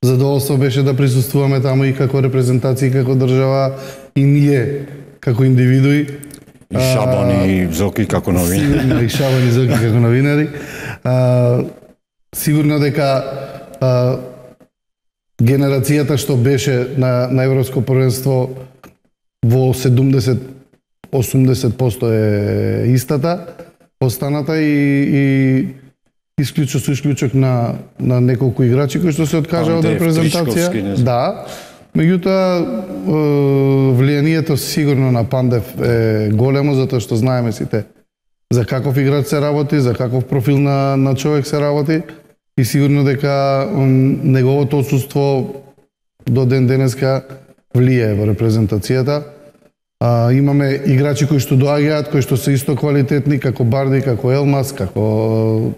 Задоволство беше да присуствуваме таму и како репрезентација, како држава и ние како индивидуи. И Шабан и Зоки како новинари. Сигурно и Шабан и Зоки како новинари. А, сигурно дека а, генерацијата што беше на, на Европско првенство во седумдесет до осумдесет проценти е истата, останата и, и исклучок со исклучок на, на неколку играчи кои што се откажаа од репрезентација. Да. Меѓутоа, влијанието сигурно на Пандев е големо, затоа што знаеме сите за каков играч се работи, за каков профил на, на човек се работи и сигурно дека неговото отсуство до ден денеска влијае во репрезентацијата. А, имаме играчи кои што доаѓаат, кои што се исто квалитетни, како Барди, како Елмас, како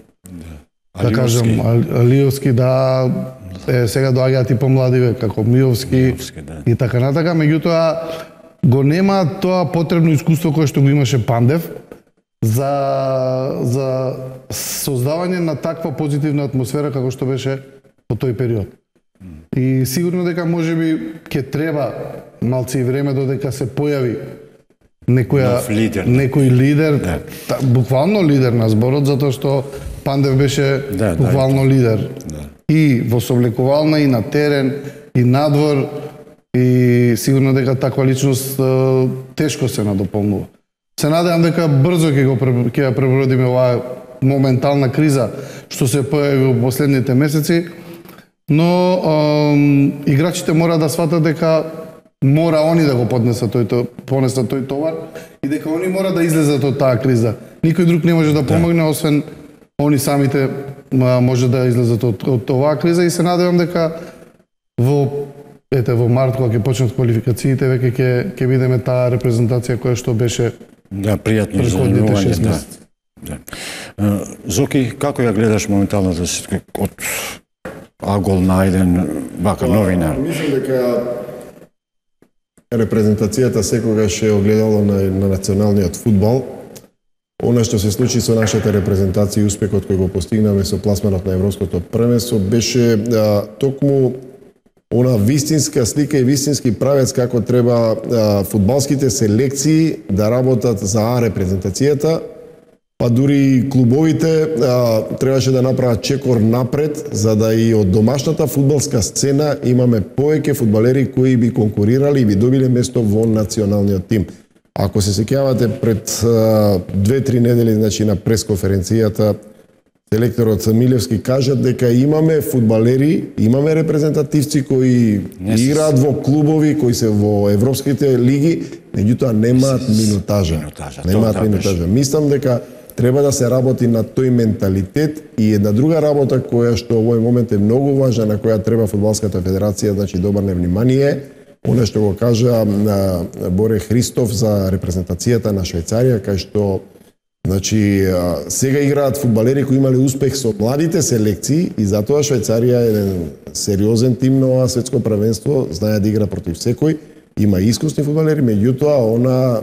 да кажам Алиовски, да, е, сега доаѓаат и помладиве како Миовски, Миовски да. И така натака, меѓутоа го нема тоа потребно искуство кое што го имаше Пандев за за создавање на таква позитивна атмосфера како што беше во тој период. И сигурно дека можеби ќе треба малци време додека се појави некоја Нов лидер. некој лидер, Да. та, буквално лидер на зборот, затоа што Пандев беше Да, да, буквално лидер. Да. И во соблекувална, и на терен, и надвор, и сигурно дека таква личност е, тешко се надополнува. Се надевам дека брзо ќе го пре- ќе ја пребродиме оваа моментална криза што се појави во последните месеци, но ем, играчите мора да сватат дека мора они да го поднесат тој, тој понесат тој товар и дека они мора да излезат од таа криза. Никој друг не може да помогне освен они самите м, може да излезат од, од оваа криза и се надевам дека во ете во март кога ќе почнат квалификациите веќе ќе ќе видиме таа репрезентација која што беше Да, пријатно Предходните изненадување, шест да. месеци. Да. Е, Зоки, како ја гледаш моменталната ситуација од агол на еден вака новинар? Мислам дека репрезентацијата секогаш е огледало на, на националниот фудбал. Она што се случи со нашата репрезентација и успехот кој го постигнаме со пласманот на Европското првенство беше а, токму она вистинска слика и вистински правец како треба а, фудбалските селекции да работат за А репрезентацијата, па дури и клубовите а, требаше да направат чекор напред, за да и од домашната фудбалска сцена имаме повеќе фудбалери кои би конкурирали и би добиле место во националниот тим. Ако се сеќавате пред две-три недели, значи на пресконференцијата, селекторот Милевски кажа дека имаме фудбалери, имаме репрезентативци кои играат во клубови, кои се во европските лиги, меѓутоа немаат минутажа. Минутажа, Немаат тоа минутажа. Мислам дека треба да се работи на тој менталитет и една друга работа која што во овој момент е многу важна, на која треба фудбалската федерација значи да обрне внимание, она што го кажа на Боре Христов за репрезентацијата на Швајцарија, кај што значи сега играат фудбалери кои имале успех со младите селекции и затоа Швајцарија е еден сериозен тим на ова светско првенство, знае да игра против секој, има искусни фудбалери, меѓутоа она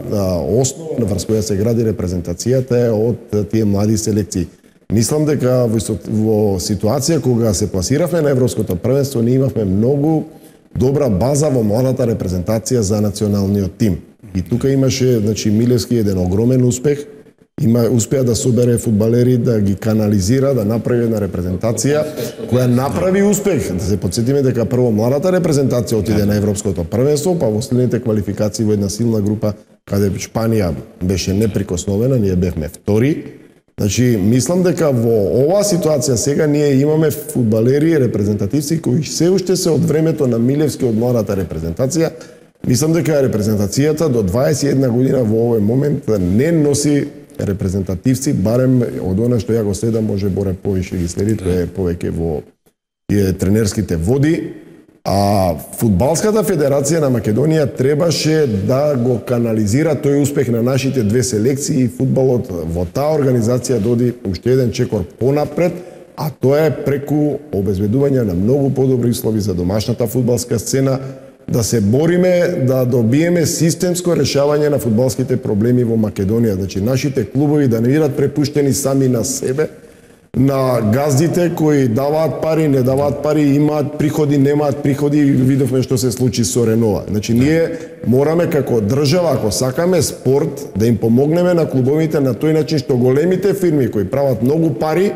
основа врз која се гради репрезентацијата е од тие млади селекции. Мислам дека во, во ситуација кога се пласиравме на Европското првенство, ние имавме многу добра база во младата репрезентација за националниот тим. И тука имаше, значи, Милевски еден огромен успех, има успеа да собере фудбалери, да ги канализира, да направи една репрезентација која направи успех. Да се потсетиме дека прво младата репрезентација отиде на Европското првенство, па во следните квалификации во една силна група каде Шпанија беше неприкосновена, ние бевме втори. Значи, мислам дека во оваа ситуација сега ние имаме фудбалери, репрезентативци кои се уште се од времето на Милевски од младата репрезентација. Мислам дека репрезентацијата до дваесет и една година во овој момент не носи репрезентативци, барем од она што ја го следам, може Боре повише ги следи, тоа е повеќе во е, тренерските води. А фудбалската федерација на Македонија требаше да го канализира тој успех на нашите две селекции и фудбалот во таа организација доди уште еден чекор понапред, а тоа е преку обезбедување на многу подобри услови за домашната фудбалска сцена, да се бориме да добиеме системско решавање на фудбалските проблеми во Македонија. Значи, нашите клубови да не бидат препуштени сами на себе, на газдите кои даваат пари, не даваат пари, имаат приходи, немаат приходи, видовме што се случи со Ренова. Значи, ние мораме како држава, ако сакаме спорт, да им помогнеме на клубовите на тој начин што големите фирми кои прават многу пари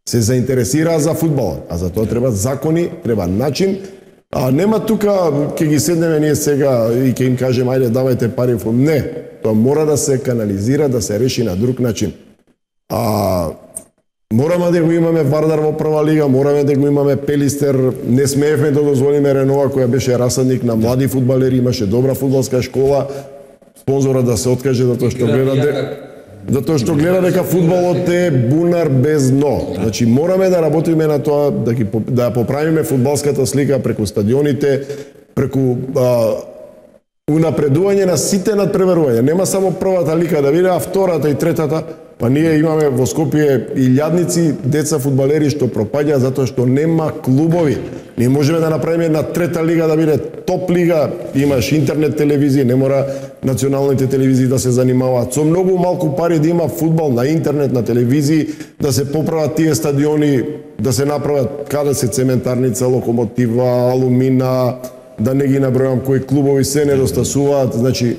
се заинтересираат за фудбалот. А за тоа треба закони, треба начин. А нема тука, ќе ги седнеме ние сега и ќе им кажем, ајде, давајте пари. Не, тоа мора да се канализира, да се реши на друг начин. А мораме да го имаме Вардар во прва лига, мораме да го имаме Пелистер, не смеевме да дозволиме Ренова, која беше расадник на млади фудбалери, имаше добра фудбалска школа, спонзора да се откаже затоа што гледа де... затоа што гледа дека фудбалот е бунар без дно. Значи мораме да работиме на тоа да ги да поправиме фудбалската слика преку стадионите, преку а, унапредување на сите надпреварувања. Нема само првата лига да биде, а втората и третата. Па ние имаме во Скопје илјадници деца фудбалери што пропаѓаат затоа што нема клубови. Ние можеме да направиме една трета лига да биде топ лига, имаш интернет телевизија, не мора националните телевизии да се занимаваат. Со многу малку пари да има фудбал на интернет, на телевизии, да се поправат тие стадиони да се направат каде се цементарница, локомотива, алумина, да не ги набројам кои клубови се недостасуваат, значи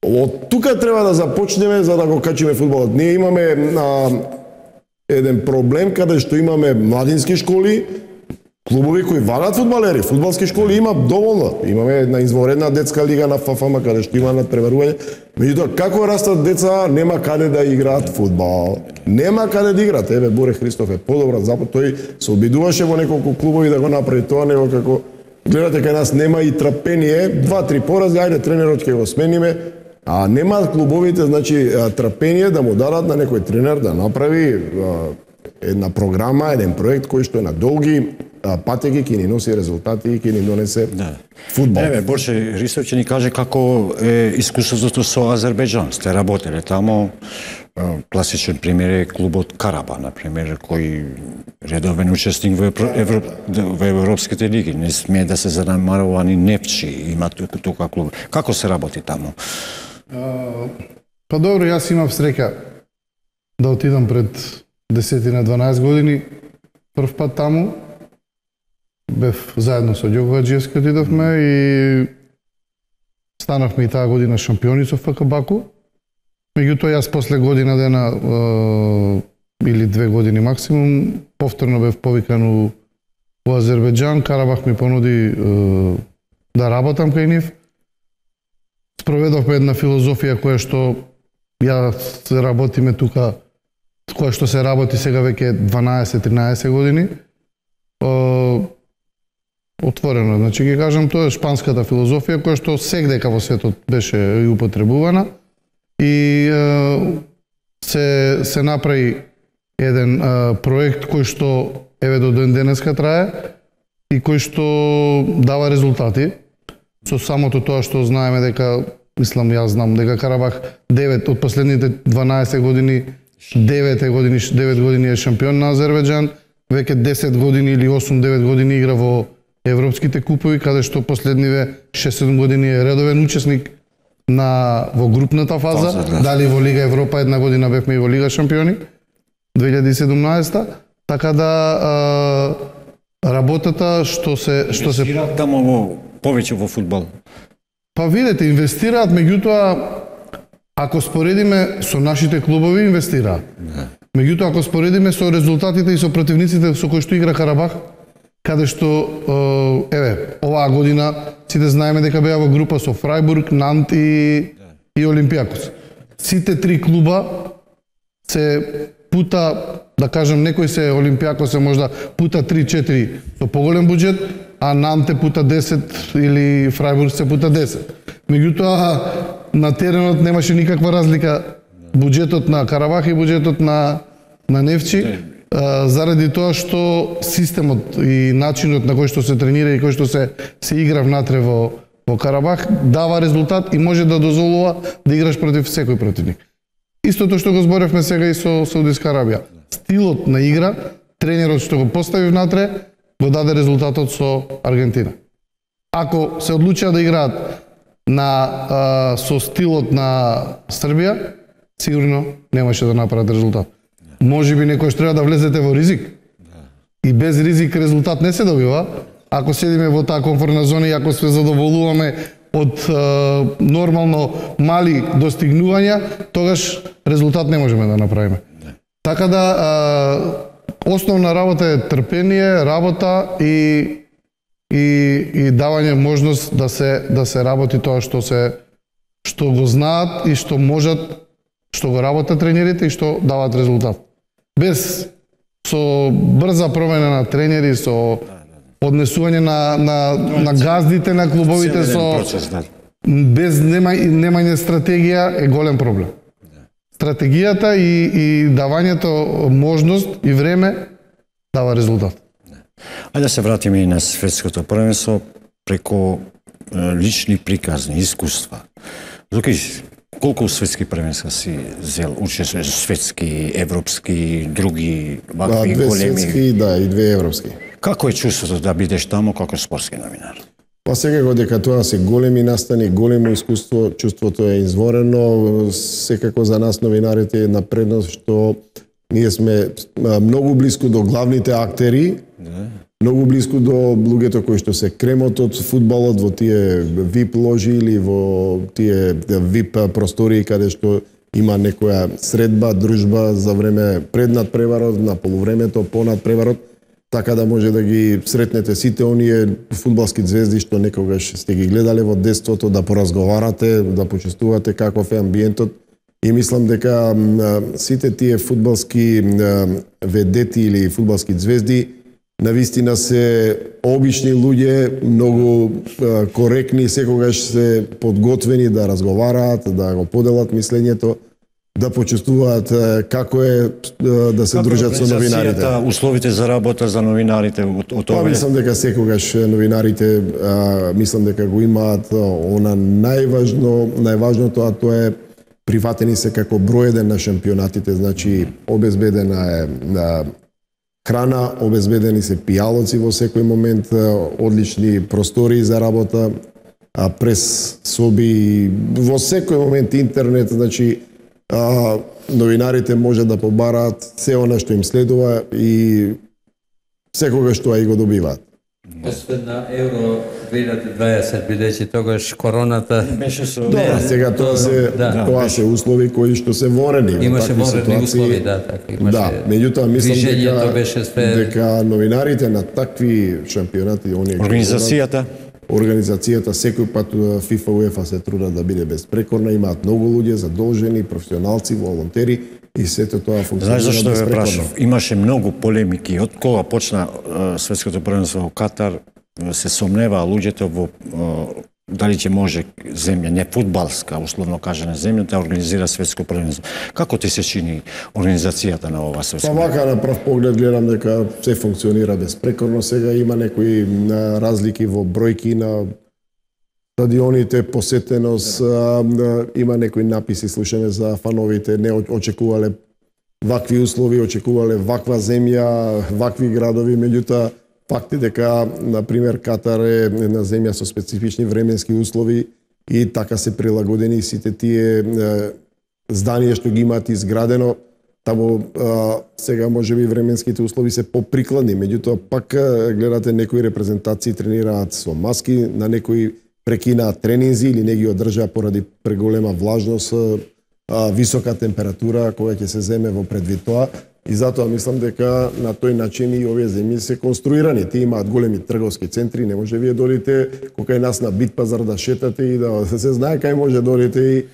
од тука треба да започнеме за да го качиме фудбалот. Ние имаме а, еден проблем каде што имаме младински школи, клубови кои валат фудбалери, фудбалски школи има доволно. Имаме една извонредна детска лига на ФАФАМ каде што има надпреварување. Меѓутоа како растат деца, нема каде да играат фудбал. Нема каде да играат. Еве Боре Христов е подобра запад, тој се обидуваше во неколку клубови да го направи тоа, него како гледате кај нас нема и трпение, два-три порази, ајде тренерот ќе го смениме, а нема клубовите, значи трпение да му дадат на некој тренер да направи една програма, еден проект кој што е на долги патеки ќе ни носи резултати и ќе ни донесе да. Фудбал. Еве, Борче Христов ќе ни каже како е искуството со Азербејџан. Сте работеле тамо. Класичен пример е клубот Караба, например, кој редовен учесник во, Европ... во европските лиги. Не смее да се занемарува ни Невчи, има тука клуб. Како се работи тамо? А, па добро, јас имав среќа да отидам пред десет дванаесет години прв пат таму. Бев заедно со Ѓоко Хаџиевски отидовме и станавме и таа година шампиони со ФК Баку. Меѓутоа јас после година дена е, или две години максимум повторно бев повикан у, у Азербејџан. Карабах ми понуди е, да работам кај нив. Спроведовме една филозофија која што ја се работиме тука, која што се работи сега веќе дванаесет тринаесет години. Е, отворено, значи ги кажам, тоа е шпанската филозофија која што сегдека во светот беше и употребувана и е, се се направи еден е, проект кој што еве до ден денеска трае и кој што дава резултати. Со самото тоа што знаеме дека, мислам, јас знам дека Карабах девет од последните дванаесет години, девет години, девет години е шампион на Азербејџан, веќе десет години или осум-девет години игра во европските купови, каде што последниве шест-седум години е редовен учесник на во групната фаза, фаза да. Дали во Лига Европа една година бевме и во Лига шампиони две илјади и седумнаесета, така да а, работата што се што се тамо во повеќе во фудбал. Па видете, инвестираат, меѓутоа ако споредиме со нашите клубови инвестираат. Да. Меѓутоа ако споредиме со резултатите и со противниците со кои што игра Карабах, каде што, еве, оваа година сите знаеме дека беа во група со Фрајбург, Нант и, и Олимпијакос. Сите три клуба се пута, да кажем, некој се Олимпијакос е можда пута три-четири со поголем буџет, а Нант е пута десет или Фрајбург се пута десет. Меѓутоа, на теренот немаше никаква разлика буџетот на Карабах и буџетот на, на Невчи. Заради тоа што системот и начинот на кој што се тренира и кој што се се игра внатре во во Карабах дава резултат и може да дозволува да играш против секој противник. Истото што го зборевме сега и со Саудиска Арабија. Стилот на игра, тренерот што го постави внатре, го даде резултатот со Аргентина. Ако се одлучија да играат на а, со стилот на Србија, сигурно немаше да направат резултат. Може би некојаш треба да влезете во ризик. И без ризик резултат не се добива. Ако седиме во таа комфортна зона и ако се задоволуваме од е, нормално мали достигнувања, тогаш резултат не можеме да направиме. Така да е, основна работа е трпение, работа и и и давање можност да се да се работи тоа што се што го знаат и што можат, што го работат тренерите и што дават резултат. Без со брза промена на тренери, со однесување на на на газдите на клубовите, со без нема немање стратегија е голем проблем. Стратегијата и и давањето можност и време дава резултат. Ајде да се вратиме и на светското првенство преку лични приказни искуства. Лукиш, колку светски првенства си зел, учествуваш светски, европски, други вакви да, две големи? Светски, да, и две европски. Како е чувството да бидеш таму како спортски новинар? Па секако дека тоа се големи настани, големо искуство, чувството е изворено, секако за нас новинарите е една предност што Ние сме а, многу блиску до главните актери, Да. многу блиску до луѓето кои што се кремот од фудбалот во тие вип ложи или во тие вип простории каде што има некоја средба, дружба за време пред надпреварот, на полувремето, по надпреварот, така да може да ги сретнете сите оние фудбалски звезди што некогаш сте ги гледале во детството, да поразговарате, да почувствувате каков е амбиентот. И мислам дека сите тие фудбалски ведети или фудбалски звезди навистина се обични луѓе, многу коректни, секогаш се подготвени да разговараат, да го поделат мислењето, да почувствуваат како е да се Како дружат со новинарите. организацијата, условите за работа за новинарите од, од Па овие? мислам дека секогаш новинарите а, мислам дека го имаат она најважно, најважното, а тоа е прифатени се како број еден на шампионатите, значи обезбедена е на храна, обезбедени се пијалоци во секој момент, одлични простори за работа, а прес соби, во секој момент интернет, значи а, новинарите може да побараат се она што им следува и секогаш тоа и го добиваат. Освен на Евро две илјади и дваесет, бидејќи тогаш короната Беше со... Добра, сега тоа се да, тоа се услови кои што се ворени. во имаше такви ворени ситуации. услови, да, така имаше. Да, меѓутоа мислам движењето дека, беше све дека новинарите на такви шампионати, оние кои Организацијата? Организацијата секој пат ФИФА, УЕФА се трудат да биде безпрекорна, имаат многу луѓе задолжени, професионалци, волонтери и сето тоа функционира Знаеш зашто ве безпрекорно. прашав? Имаше многу полемики од кога почна е, светското првенство во Катар, се сомневаа луѓето во е, дали ќе може земја, не фудбалска, условно кажана земја, да организира светско првенство. Како ти се чини организацијата на ова Па светско? вака на прв поглед гледам дека се функционира безпрекорно. Сега има некои а, разлики во бројки на стадионите, посетеност, а, а, има некои написи, слушаме за фановите, не очекувале вакви услови, очекувале ваква земја, вакви градови, меѓутоа факт е дека, например, Катар е една земја со специфични временски услови и така се прилагодени сите тие е, зданија што ги имаат изградено. Таму а, сега можеби временските услови се поприкладни, меѓутоа пак а, гледате некои репрезентации тренираат со маски, на некои прекинаат тренинзи или не ги одржаа поради преголема влажност, а, висока температура која ќе се земе во предвид тоа. И затоа мислам дека на тој начин и овие земји се конструирани. Тие имаат големи трговски центри, не може вие додите кој нас на Бит пазар да шетате и да се знае кај може додите и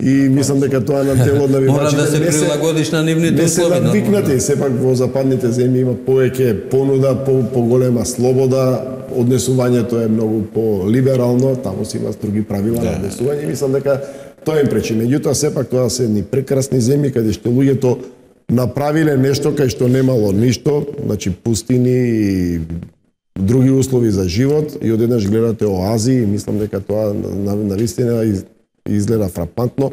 и мислам дека тоа на тело на мора навивачите да се не се прилагодиш на нивните не се услови. навикнати, сепак во западните земји има повеќе понуда, по поголема слобода, однесувањето е многу по-либерално, таму се има строги правила на однесување и мислам дека тоа им пречи. Меѓутоа сепак тоа се ни прекрасни земји каде што луѓето направиле нешто кај што немало ништо, значи пустини и други услови за живот и одеднаш гледате оази и мислам дека тоа на, на вистина из, изгледа фрапантно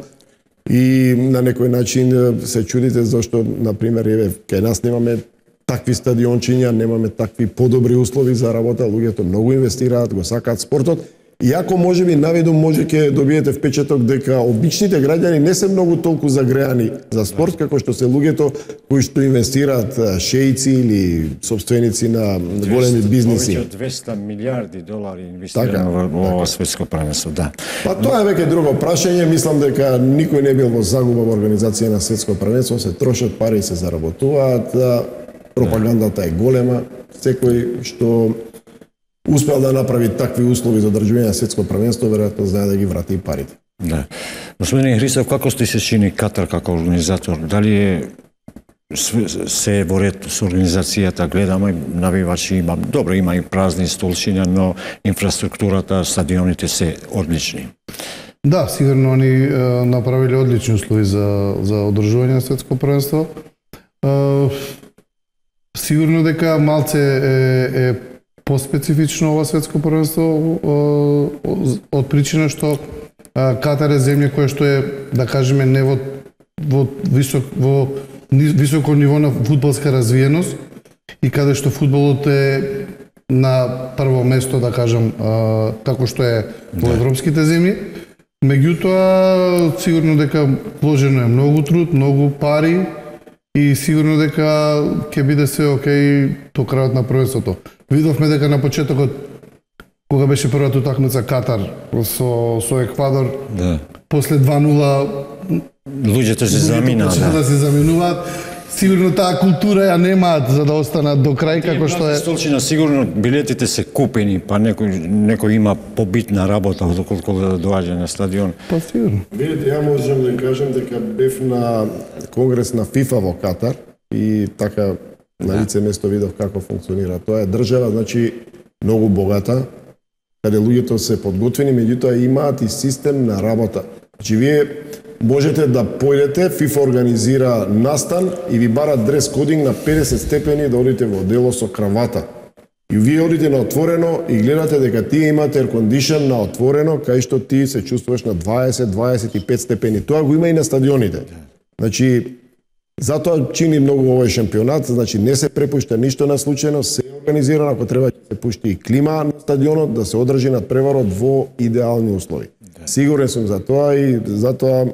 и на некој начин се чудите зашто, например, еве, кај нас немаме такви стадиончиња, немаме такви подобри услови за работа, луѓето многу инвестираат, го сакаат спортот. Иако можеби навидум може ќе добиете впечаток дека обичните граѓани не се многу толку загреани за спорт како што се луѓето кои што инвестираат, шејци или собственици на големи бизниси. Повеќе од двесте милиарди долари Така, инвестирано во во ова светско првенство, да. Па тоа е веќе друго прашање, мислам дека никој не бил во загуба во организација на светско првенство, се трошат пари и се заработуваат, пропагандата е голема, секој што успел да направи такви услови за одржување на светско првенство, веројатно знае да ги врати и парите. Да. Господин Христов, како ти се чини Катар како организатор? Дали е се во ред со организацијата, гледаме навивачи, има, добро, има и празни столчиња, но инфраструктурата, стадионите се одлични. Да, сигурно они е, направиле одлични услови за за одржување на светско првенство. Е, сигурно дека малце е, е поспецифично ова светско првенство од причина што Катар е земја која што е, да кажеме, не во во висок во високо ниво на фудбалска развиеност и каде што фудбалот е на прво место, да кажам, како што е во европските земји. Меѓутоа, сигурно дека вложено е многу труд, многу пари и сигурно дека ќе биде се окей до крајот на првенството. Видовме дека на почетокот кога беше првата утакмица Катар со со Еквадор, Да. после два нула Луѓето се заминаа. почнаа да се заминуваат. Сигурно таа култура ја немаат за да останат до крај како што е. Столчина сигурно билетите се купени, па некој некој има побитна работа доколку да доаѓа на стадион. Па сигурно. Видите, ја можам да кажам дека бев на конгрес на ФИФА во Катар и така на лице место видов како функционира. Тоа е држава, значи, многу богата, каде луѓето се подготвени, меѓутоа имаат и систем на работа. Значи, вие можете да појдете, ФИФА организира настан и ви бара дрес кодинг на педесет степени да одите во дело со кравата. И вие одите на отворено и гледате дека тие имат air condition на отворено, кај што ти се чувствуваш на дваесет до дваесет и пет степени. Тоа го има и на стадионите. Значи, затоа чини многу овој шампионат, значи не се препушта ништо на случајно, се организирано, ако треба ќе се пушти и клима на стадионот, да се одржи надпреварот во идеални услови. Сигурен сум за тоа и затоа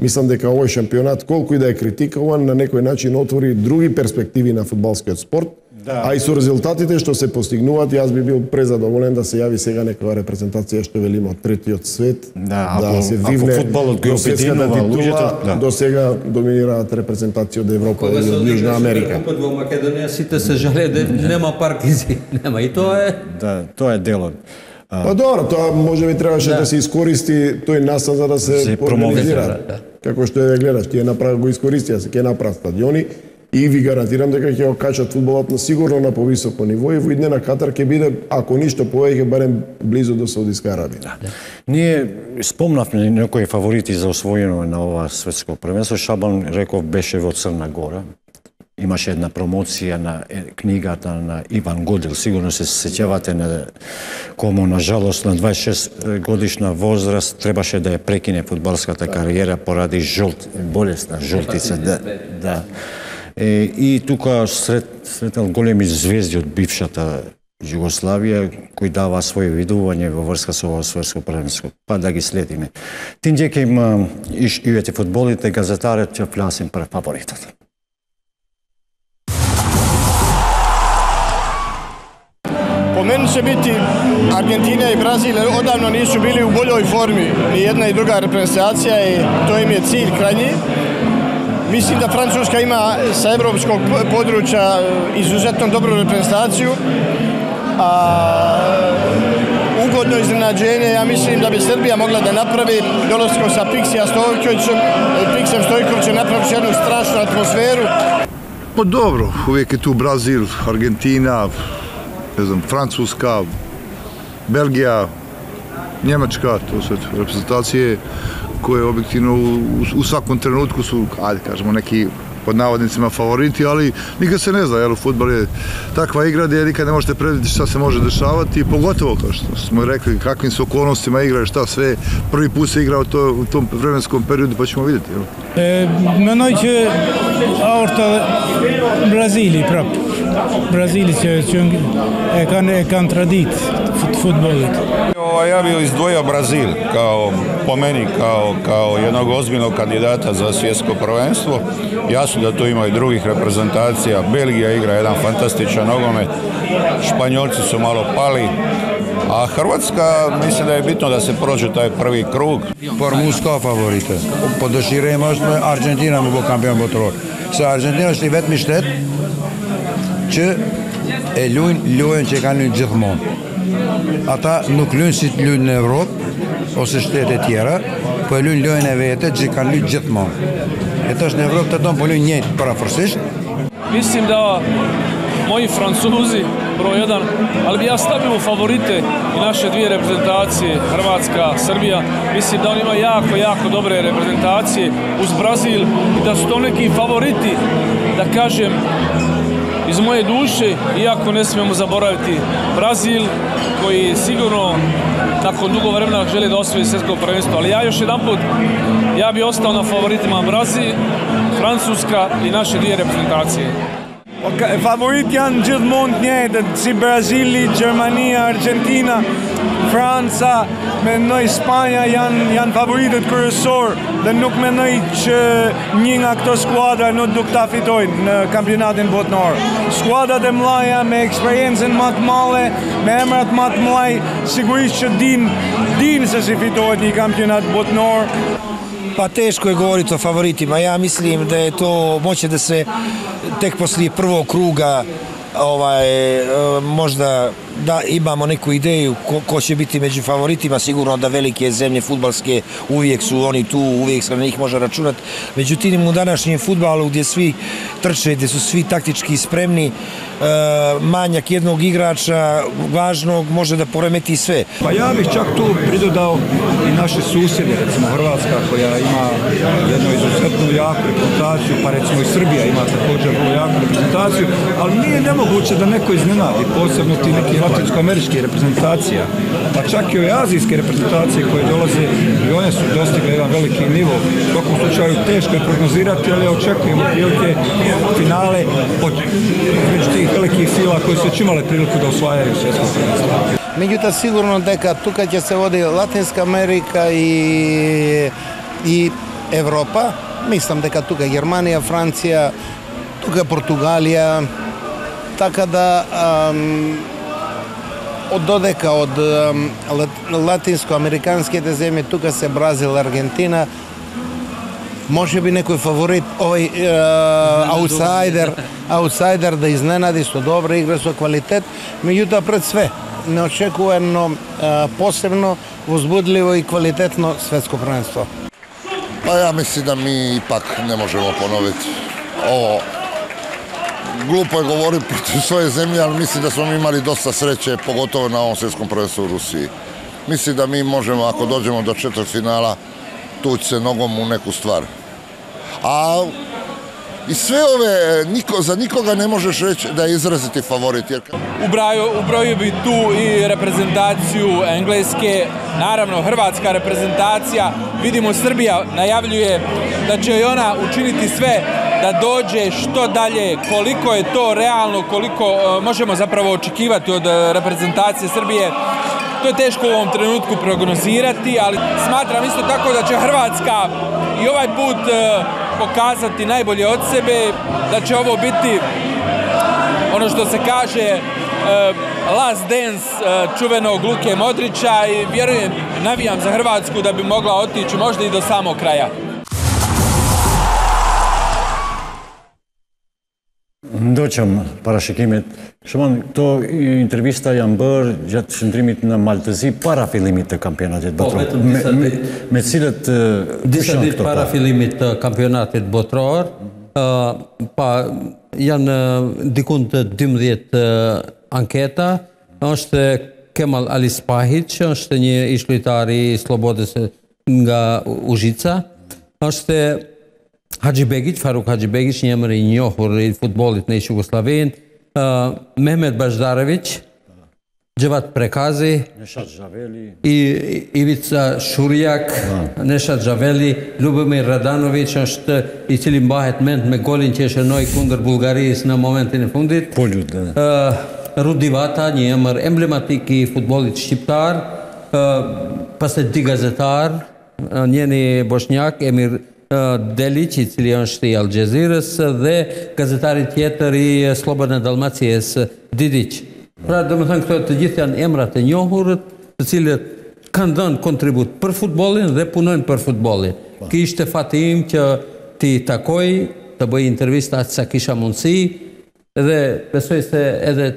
мислам дека овој шампионат, колку и да е критикуван, на некој начин отвори други перспективи на фудбалскиот спорт, да. А и со резултатите што се постигнуваат, јас би бил презадоволен да се јави сега некоја репрезентација што велиме од третиот свет, Да, да ако, се ако вивне фудбалот ги до светската обединува титула, луѓето, да. до сега доминираат репрезентација од Европа и од Јужна Америка. Кога во Македонија сите се жале да нема партизи, нема и тоа е. Да, тоа е делот. Па добро, тоа може би требаше да. да се искористи тој настан за да се, се организира. Како што е да гледаш, тие направи го искористија, се ќе направат стадиони и ви гарантирам дека ќе го качат фудбалот на сигурно на повисоко ниво и во иднина Катар ќе биде, ако ништо повеќе, барем близу до Саудиска Арабија. Да. Ние спомнавме некои фаворити за освојено на ова светско првенство. Шабан Реков беше во Црна Гора. Имаше една промоција на книгата на Иван Годил. Сигурно се сеќавате на кому, на жалост, на дваесет и шест годишна возраст требаше да ја прекине фудбалската кариера поради жолт, болесна жолтица. Да, да. И, и тука сред, сретнал големи звезди од бившата Југославија кои дава своје видување во врска со ова светско првенство. Па да ги следиме. Тинџе ке има иш ивете фудболите, газетарот ќе фласим прв фаворитот. Po meni će biti Argentina i Brazil, odavno nisu bili u boljoj formi ni jedna i druga reprezentacija i to im je cilj krajnji. Mislim da Francuska ima sa evropskog područja izuzetno dobru reprezentaciju, a ugodno iznenađenje, ja mislim da bi Srbija mogla da napravi dolaskom sa Piksija Stojkovićem, Piksem Stojkovićem napraviti jednu strašnu atmosferu. Pa dobro, uvijek je tu Brazil, Argentina, ne znam, Francuska, Belgija, Njemačka, to su reprezentacije koje objektivno u, u svakom trenutku su, ajde kažemo, neki pod navodnicima favoriti, ali nikad se ne zna, jer fudbal je takva igra gdje nikad ne možete predvidjeti šta se može dešavati, pogotovo kao što smo rekli kakvim su okolnostima igraju, šta sve, prvi put se igra u, to, u tom vremenskom periodu, pa ćemo vidjeti. Eh, Menoj që aorta Brazili prap. Brazili që, që e kanë e kanë tradit fudbalit. Ja bih izdvojio Brazil kao, po meni kao, kao jednog ozbiljnog kandidata za svjetsko prvenstvo. Jasno da tu ima i drugih reprezentacija. Belgija igra jedan fantastičan nogomet. Španjolci su malo pali. A Hrvatska, mislim da je bitno da se prođe taj prvi krug. Por mu s'ka favorite. Po dëshirem është Argentina më bë kampion botror. Se Argentina është i vetmi shtet që e luajnë lojën që e kanë luajnë gjithmonë. Ata nuk luajnë si të luajnë në Evropë ose shtete tjera, po e luajnë lojën e vete që kanë luajnë gjithmonë. E tash në Evropë të tonë po luajnë njëjtë parafërsisht. Mislim da moji Francuzi broj jedan, ali bi ja stavio u favorite i naše dvije reprezentacije, Hrvatska, Srbija. Mislim da on ima jako, jako dobre reprezentacije uz Brazil i da su to neki favoriti, da kažem, iz moje duše, iako ne smijemo zaboraviti Brazil, koji sigurno nakon dugo vremena želi da osvoji svjetsko prvenstvo. Ali ja još jedan put, ja bi ostao na favoritima Brazil, Francuska i naše dvije reprezentacije. Favorit janë gjithmonë të njëjtët, si Brazili, Gjermania, Argentina. Franca, mendoj Spanja janë janë favoritët kryesor dhe nuk mendoj që një nga këto skuadra nuk do ta fitojnë në kampionatin botëror. Skuadrat e mëdha me eksperiencën më të madhe, me emrat më të mëdha, sigurisht që din din se si fitohet një kampionat botëror. Pa teško je govoriti o favoritima, ja mislim da je to moće da se tek poslije prvog kruga ovaj, možda da imamo neku ideju ko, ko će biti među favoritima, sigurno da velike zemlje fudbalske uvijek su oni tu, uvijek se na njih može računati. Međutim, u današnjem fudbalu gdje svi trče, gdje su svi taktički spremni, manjak jednog igrača važnog može da poremeti sve. Pa ja bih čak tu pridodao i naše susjede, recimo Hrvatska koja ima jednu izuzetnu jaku reprezentaciju, pa recimo i Srbija ima također vrlo jaku reprezentaciju, ali nije nemoguće da neko iznenadi, posebno ti neki latinsko-američke reprezentacija, pa čak i ove azijske reprezentacije koje dolaze i one su dostigle jedan veliki nivo. U svakom slučaju teško je prognozirati, ali očekujemo prilike finale od među tih velikih sila koje su već imale priliku da osvajaju svjetsko prvenstvo. Međutim, sigurno da tuka će se vodi Latinska Amerika i, i Evropa. Mislim da tuka Germanija, Francija, tuka Portugalija, tako da um, od dodeka od um, latinsko-amerikanske te zemlje, tuka se Brazil, Argentina, može bi nekoj favorit, ovaj uh, outsider, outsider da iznenadi, su dobre igre, su kvalitet, međutim pred sve neočekujeno, uh, posebno, uzbudljivo i kvalitetno svetsko prvenstvo. Pa ja mislim da mi ipak ne možemo ponoviti ovo. Glupo je govoriti protiv svoje zemlje, ali mislim da smo mi imali dosta sreće, pogotovo na ovom svjetskom prvenstvu u Rusiji. Mislim da mi možemo, ako dođemo do četvrtfinala, tući se nogom u neku stvar. A i sve ove, niko, za nikoga ne možeš reći da je izraziti favorit. Jer... Ubrojio bi tu i reprezentaciju Engleske, naravno hrvatska reprezentacija. Vidimo, Srbija najavljuje da će i ona učiniti sve da dođe što dalje, koliko je to realno, koliko uh, možemo zapravo očekivati od uh, reprezentacije Srbije. To je teško u ovom trenutku prognozirati, ali smatram isto tako da će Hrvatska i ovaj put uh, pokazati najbolje od sebe, da će ovo biti ono što se kaže uh, last dance uh, čuvenog Luke Modrića i vjerujem, navijam za Hrvatsku da bi mogla otići možda i do samog kraja. Doqëm parashikimet, shemon, to intervista janë bërë gjatë shëndrimit në Maltëzi para fillimit të kampionatit botëror. Me, me, me cilët disa ditë para fillimit të kampionatit botëror, pa janë dikun të dymbëdhjetë anketa, është Kemal Alispahić, është një ish-lojtar i Slobodës nga Užica, është Hadžibegić, Faruk Hadžibegić, një emër i njohur i futbollit në Jugosllavinë, uh, Mehmet Bajdarević, Gjevat Prekazi, Neshat Xhaveli, i Ivica Shurjak, Neshat Xhaveli, Lubomir Radanović është i cili mbahet mend me golin që e shënoi kundër Bullgarisë në momentin e fundit. Polut. Uh, Rudi Vata, një emër emblematik i futbollit shqiptar, uh, pastaj di gazetar, uh, njëri bosnjak, Emir Delić, i cili është i Al Jazeerës, dhe gazetari tjetër i Slobodne Dalmacije, Didić. Pra, do më thënë, këto të gjithë janë emrat e njohur, të cilët kanë dhënë kontribut për futbollin dhe punojnë për futbollin. Ky ishte fati im që ti takoj, të bëj intervista aq sa kisha mundësi, dhe besoj se edhe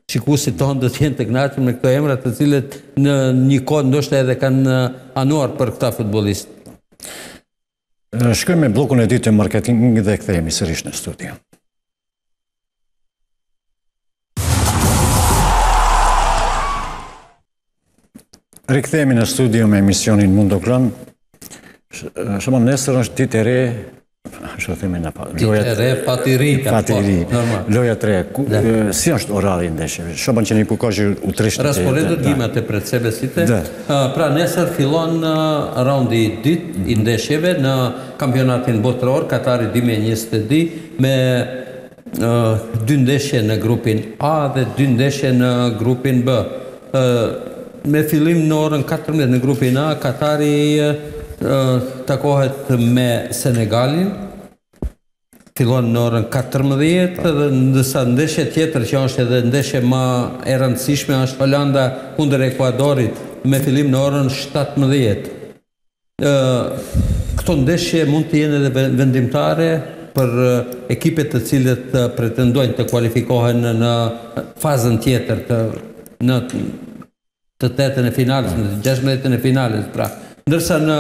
shikuesit tonë do të jenë të kënaqur me këto emra, të cilët në një kohë ndoshta edhe kanë anuar për këta futbollistë. Shkojmë me blokun e dytë të marketingit dhe kthehemi sërish në studio. Rikthehemi në studio me emisionin Mundo Klan. Shemon, nesër është ditë e re, çfarë themi na pa. Ditë e re, fatiri. Fatiri. Loja tre. Si është orari i ndeshjeve? Shoban që ne pokazë u trishtë. Rasporedet imate pred sebe site. Pra nesër fillon raundi i dytë i ndeshjeve në kampionatin botëror Katari dy mijë e njëzet e dy me dy ndeshje në grupin A dhe dy ndeshje në grupin B. me fillim në orën katërmbëdhjetë në grupin A, Katari takohet me Senegalin, fillon në orën katërmbëdhjetë dhe ndërsa ndeshje tjetër që është edhe ndeshje më e rëndësishme është Holanda kundër Ekuadorit me fillim në orën shtatëmbëdhjetë. Këto ndeshje mund të jenë edhe vendimtare për ekipet të cilët pretendojnë të kualifikohen në fazën tjetër të në të tetën e finales, në gjashtëmbëdhjetën e finales, pra. Ndërsa në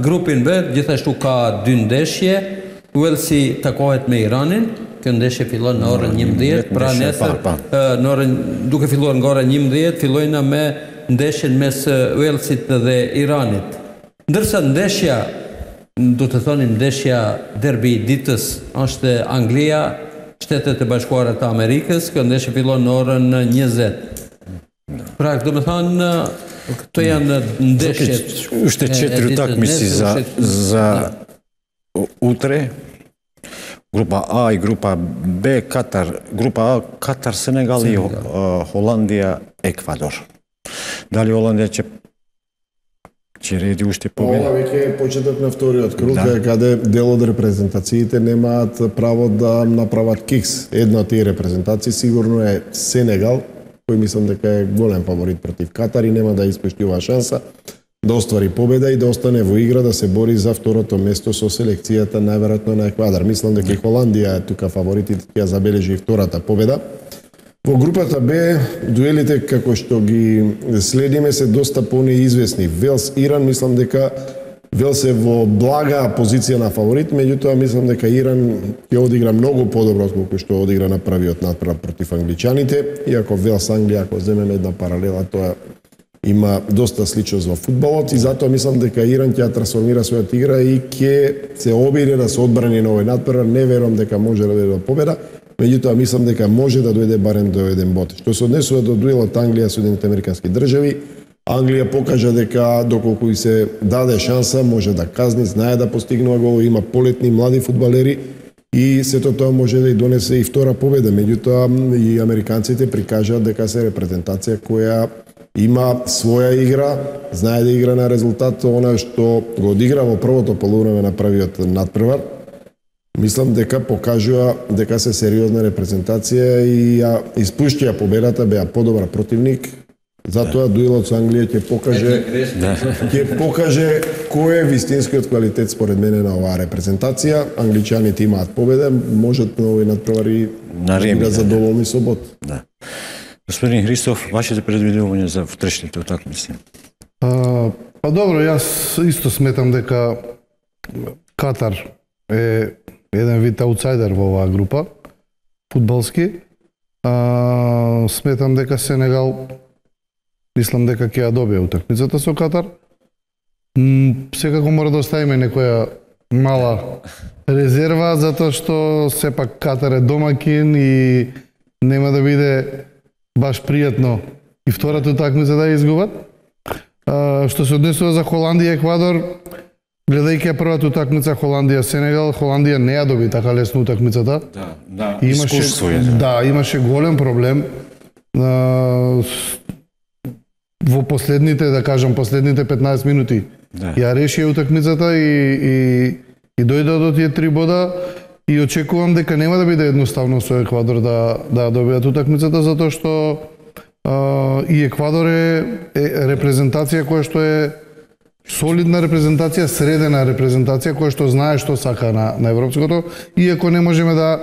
grupin B gjithashtu ka dy ndeshje, Walesi takohet me Iranin, kjo ndeshje fillon në orën njëmbëdhjetë, pra nesër në orën duke filluar nga ora njëmbëdhjetë, fillojnë me ndeshjen mes Walesit dhe Iranit. Ndërsa ndeshja, do të thoni ndeshja derbi i ditës është Anglia, Shtetet e Bashkuara të Amerikës, kjo ndeshje fillon në orën njëzet. Pra, do me thonë, këto janë ndeshjet. Është četiri utakmice za, za utre, grupa A i grupa B, Katar, grupa A, Katar, Senegal i Holandija, Ekvador. Дали Холандија ќе ќе реди уште победа? Ова веќе е почеток на вториот круг, да. Каде дел од репрезентациите немаат право да направат кикс. Една од тие репрезентации сигурно е Сенегал, кој мислам дека е голем фаворит против Катар и нема да испушти оваа шанса да оствари победа и да остане во игра да се бори за второто место со селекцијата најверојатно на Еквадор. Мислам дека и Холандија е тука фаворитите ќе ја забележи и втората победа. Во групата Б, дуелите како што ги следиме се доста понеизвестни. Велс Иран, мислам дека Велс е во блага позиција на фаворит, меѓутоа мислам дека Иран ќе одигра многу подобро отколку што одигра на првиот надпревар против англичаните, иако Велс Англија, ако земеме една паралела, тоа има доста сличност во фудбалот и затоа мислам дека Иран ќе ја трансформира својата игра и ќе се обиде да се одбрани на овој надпревар. Не верувам дека може да дојде до победа. Меѓутоа, мислам дека може да дојде барем до еден бод. Што се однесува до дуелот Англија со Соединетите Американски држави, Англија покажа дека доколку и се даде шанса, може да казни, знае да постигнува гол, има полетни млади фудбалери и сето тоа може да и донесе и втора победа. Меѓутоа, и американците прикажаат дека се репрезентација која има своја игра, знае да игра на резултат, она што го одигра во првото полувреме на првиот надпревар. Мислам дека покажува дека се сериозна репрезентација и ја испуштија победата, беа подобар противник. Затоа дуелот со Англија ќе покаже ќе покаже кој е вистинскиот квалитет според мене на оваа репрезентација. Англичаните имаат победа, можат на овој надпревари да задоволни со бод. Да. Господин Христов, вашите предвидувања за втрешните утакмици? Па добро, јас исто сметам дека Катар е еден вид аутсайдер во оваа група, фудбалски. А, сметам дека Сенегал, мислам дека ќе ја добие утакмицата со Катар. М, секако мора да оставиме некоја мала резерва, затоа што сепак Катар е домакин и нема да биде баш пријатно и втората утакмица да ја изгубат. А, што се однесува за Холандија и Еквадор, гледајќи првата утакмица Холандија-Сенегал, Холандија не ја доби така лесно утакмицата. Да, да, имаше, да, имаше голем проблем. А, во последните, да кажам, последните петнаесет минути да. Ја реши утакмицата и, и, и дојде до тие три бода и очекувам дека нема да биде едноставно со Еквадор да, да добијат утакмицата, затоа што а, и Еквадор е, е репрезентација која што е солидна репрезентација, средена репрезентација која што знае што сака на, на европското, иако не можеме да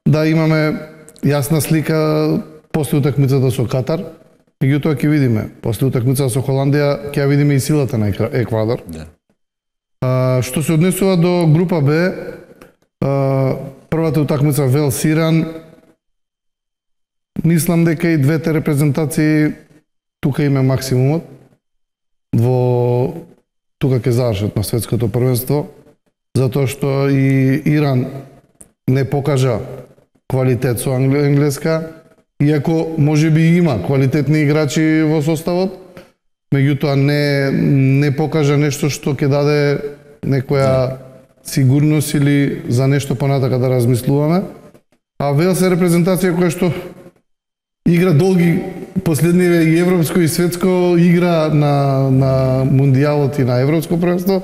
да имаме јасна слика после утакмицата со Катар, меѓутоа ќе видиме. После утакмицата со Холандија ќе ја видиме и силата на Еквадор. Да. А, што се однесува до група Б, а, првата утакмица Велс Иран, мислам дека и двете репрезентации тука има максимумот. Во тука ќе завршат на светското првенство, затоа што и Иран не покажа квалитет со енглеска, иако може би има квалитетни играчи во составот, меѓутоа не, не покажа нешто што ќе даде некоја сигурност или за нешто понатака да размислуваме. А Велс е репрезентација која што игра долги последниве и европско и светско игра на на мундијалот и на европско првенство.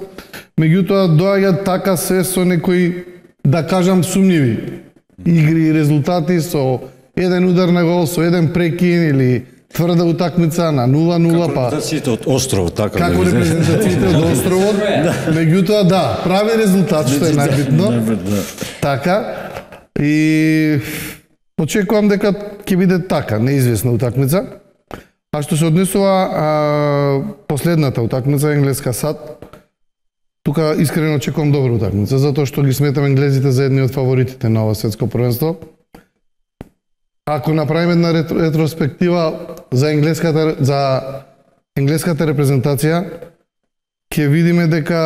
Меѓутоа доаѓа така се со некои, да кажам, сумњиви игри и резултати, со еден удар на гол, со еден прекин или тврда утакмица на нула нула, па репрезентациите од островот, така како да репрезентациите од островот. Меѓутоа да, прави резултат, што е најбитно. Така и очекувам дека ќе биде така, неизвестна утакмица. А што се однесува а, последната утакмица, Енглеска САД, тука искрено очекувам добра утакмица, затоа што ги сметам енглезите за едни од фаворитите на ова светско првенство. Ако направиме една ретроспектива за енглеската за енглеската репрезентација, ќе видиме дека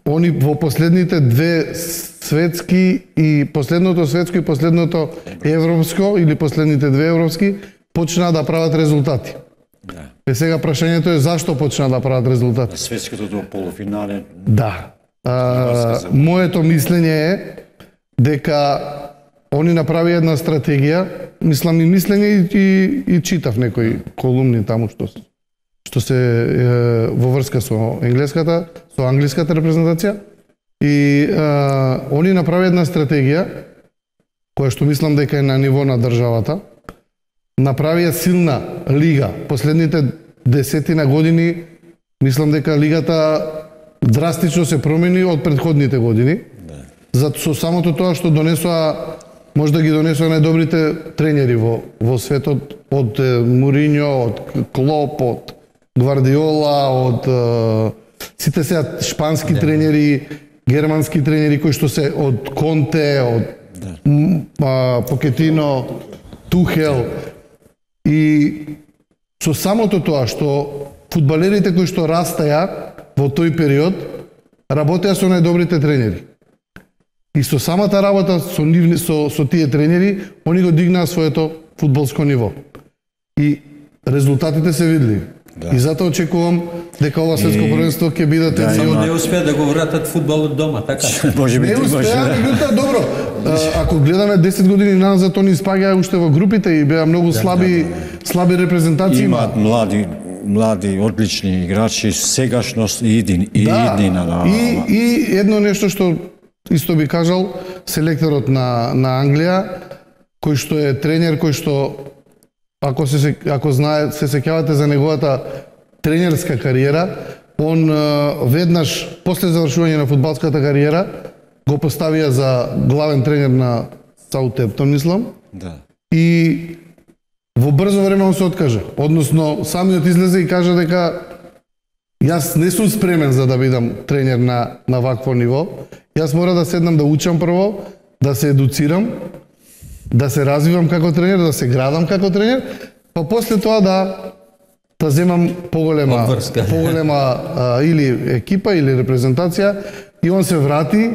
они во последните две светски и последното светско и последното европско или последните две европски почнаа да прават резултати. Да. Е сега прашањето е зашто почнаа да прават резултати? Светското до полуфинале. Да. А, моето мислење е дека они направи една стратегија, мислам и мислење и, и, и читав некои колумни таму што што се е, во врска со енглеската, со англиската репрезентација и е, они направи една стратегија која што мислам дека е на ниво на државата. Направија силна лига. Последните десетина години мислам дека лигата драстично се промени од претходните години. За со самото тоа што донесоа, може да ги донесоа најдобрите тренери во во светот, од Муриньо, од Клоп, од Гвардиола, од uh, сите сега шпански да. тренери, германски тренери кои што се од Конте, од да. uh, Покетино, Тухел и со самото тоа што фудбалерите кои што растаја во тој период работеа со најдобрите тренери. И со самата работа со нивни со со тие тренери, они го дигнаа своето фудбалско ниво. И резултатите се видливи. Да. И затоа очекувам дека ова светско првенство ќе биде да, но не успеа да го вратат фудбалот дома, така? Може би не успеа, меѓутоа добро. А, ако гледаме десет години назад, они испаѓаа уште во групите и беа многу слаби, да, да, да. слаби репрезентации. Имаат млади млади одлични играчи, сегашност и идин и да. иднина. Да. И и едно нешто што исто би кажал селекторот на на Англија, кој што е тренер, кој што ако се ако знае се сеќавате за неговата тренерска кариера, он веднаш после завршување на фудбалската кариера го поставија за главен тренер на Саутемптон, мислам. Да. И во брзо време он се откажа. Односно, самиот излезе и кажа дека јас не сум спремен за да бидам тренер на на вакво ниво. Јас мора да седнам да учам прво, да се едуцирам, да се развивам како тренер, да се градам како тренер, па после тоа да да земам поголема Обврска. поголема а, или екипа или репрезентација и он се врати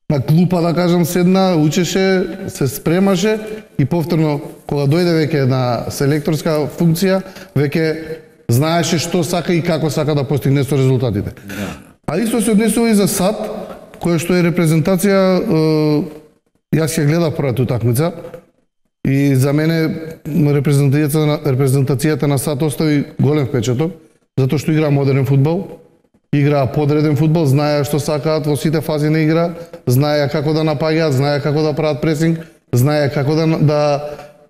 на клупа, да кажам, седна, учеше, се спремаше и повторно кога дојде веќе на селекторска функција, веќе знаеше што сака и како сака да постигне со резултатите. Да. А исто се однесува и за САД, која што е репрезентација, е, јас ја гледав првата утакмица и за мене репрезентацијата на, репрезентацијата на САД остави голем впечаток, затоа што играа модерен фудбал, играа подреден фудбал, знаеа што сакаат во сите фази на игра, знаеа како да напаѓаат, знаеа како да прават пресинг, знаеа како да да,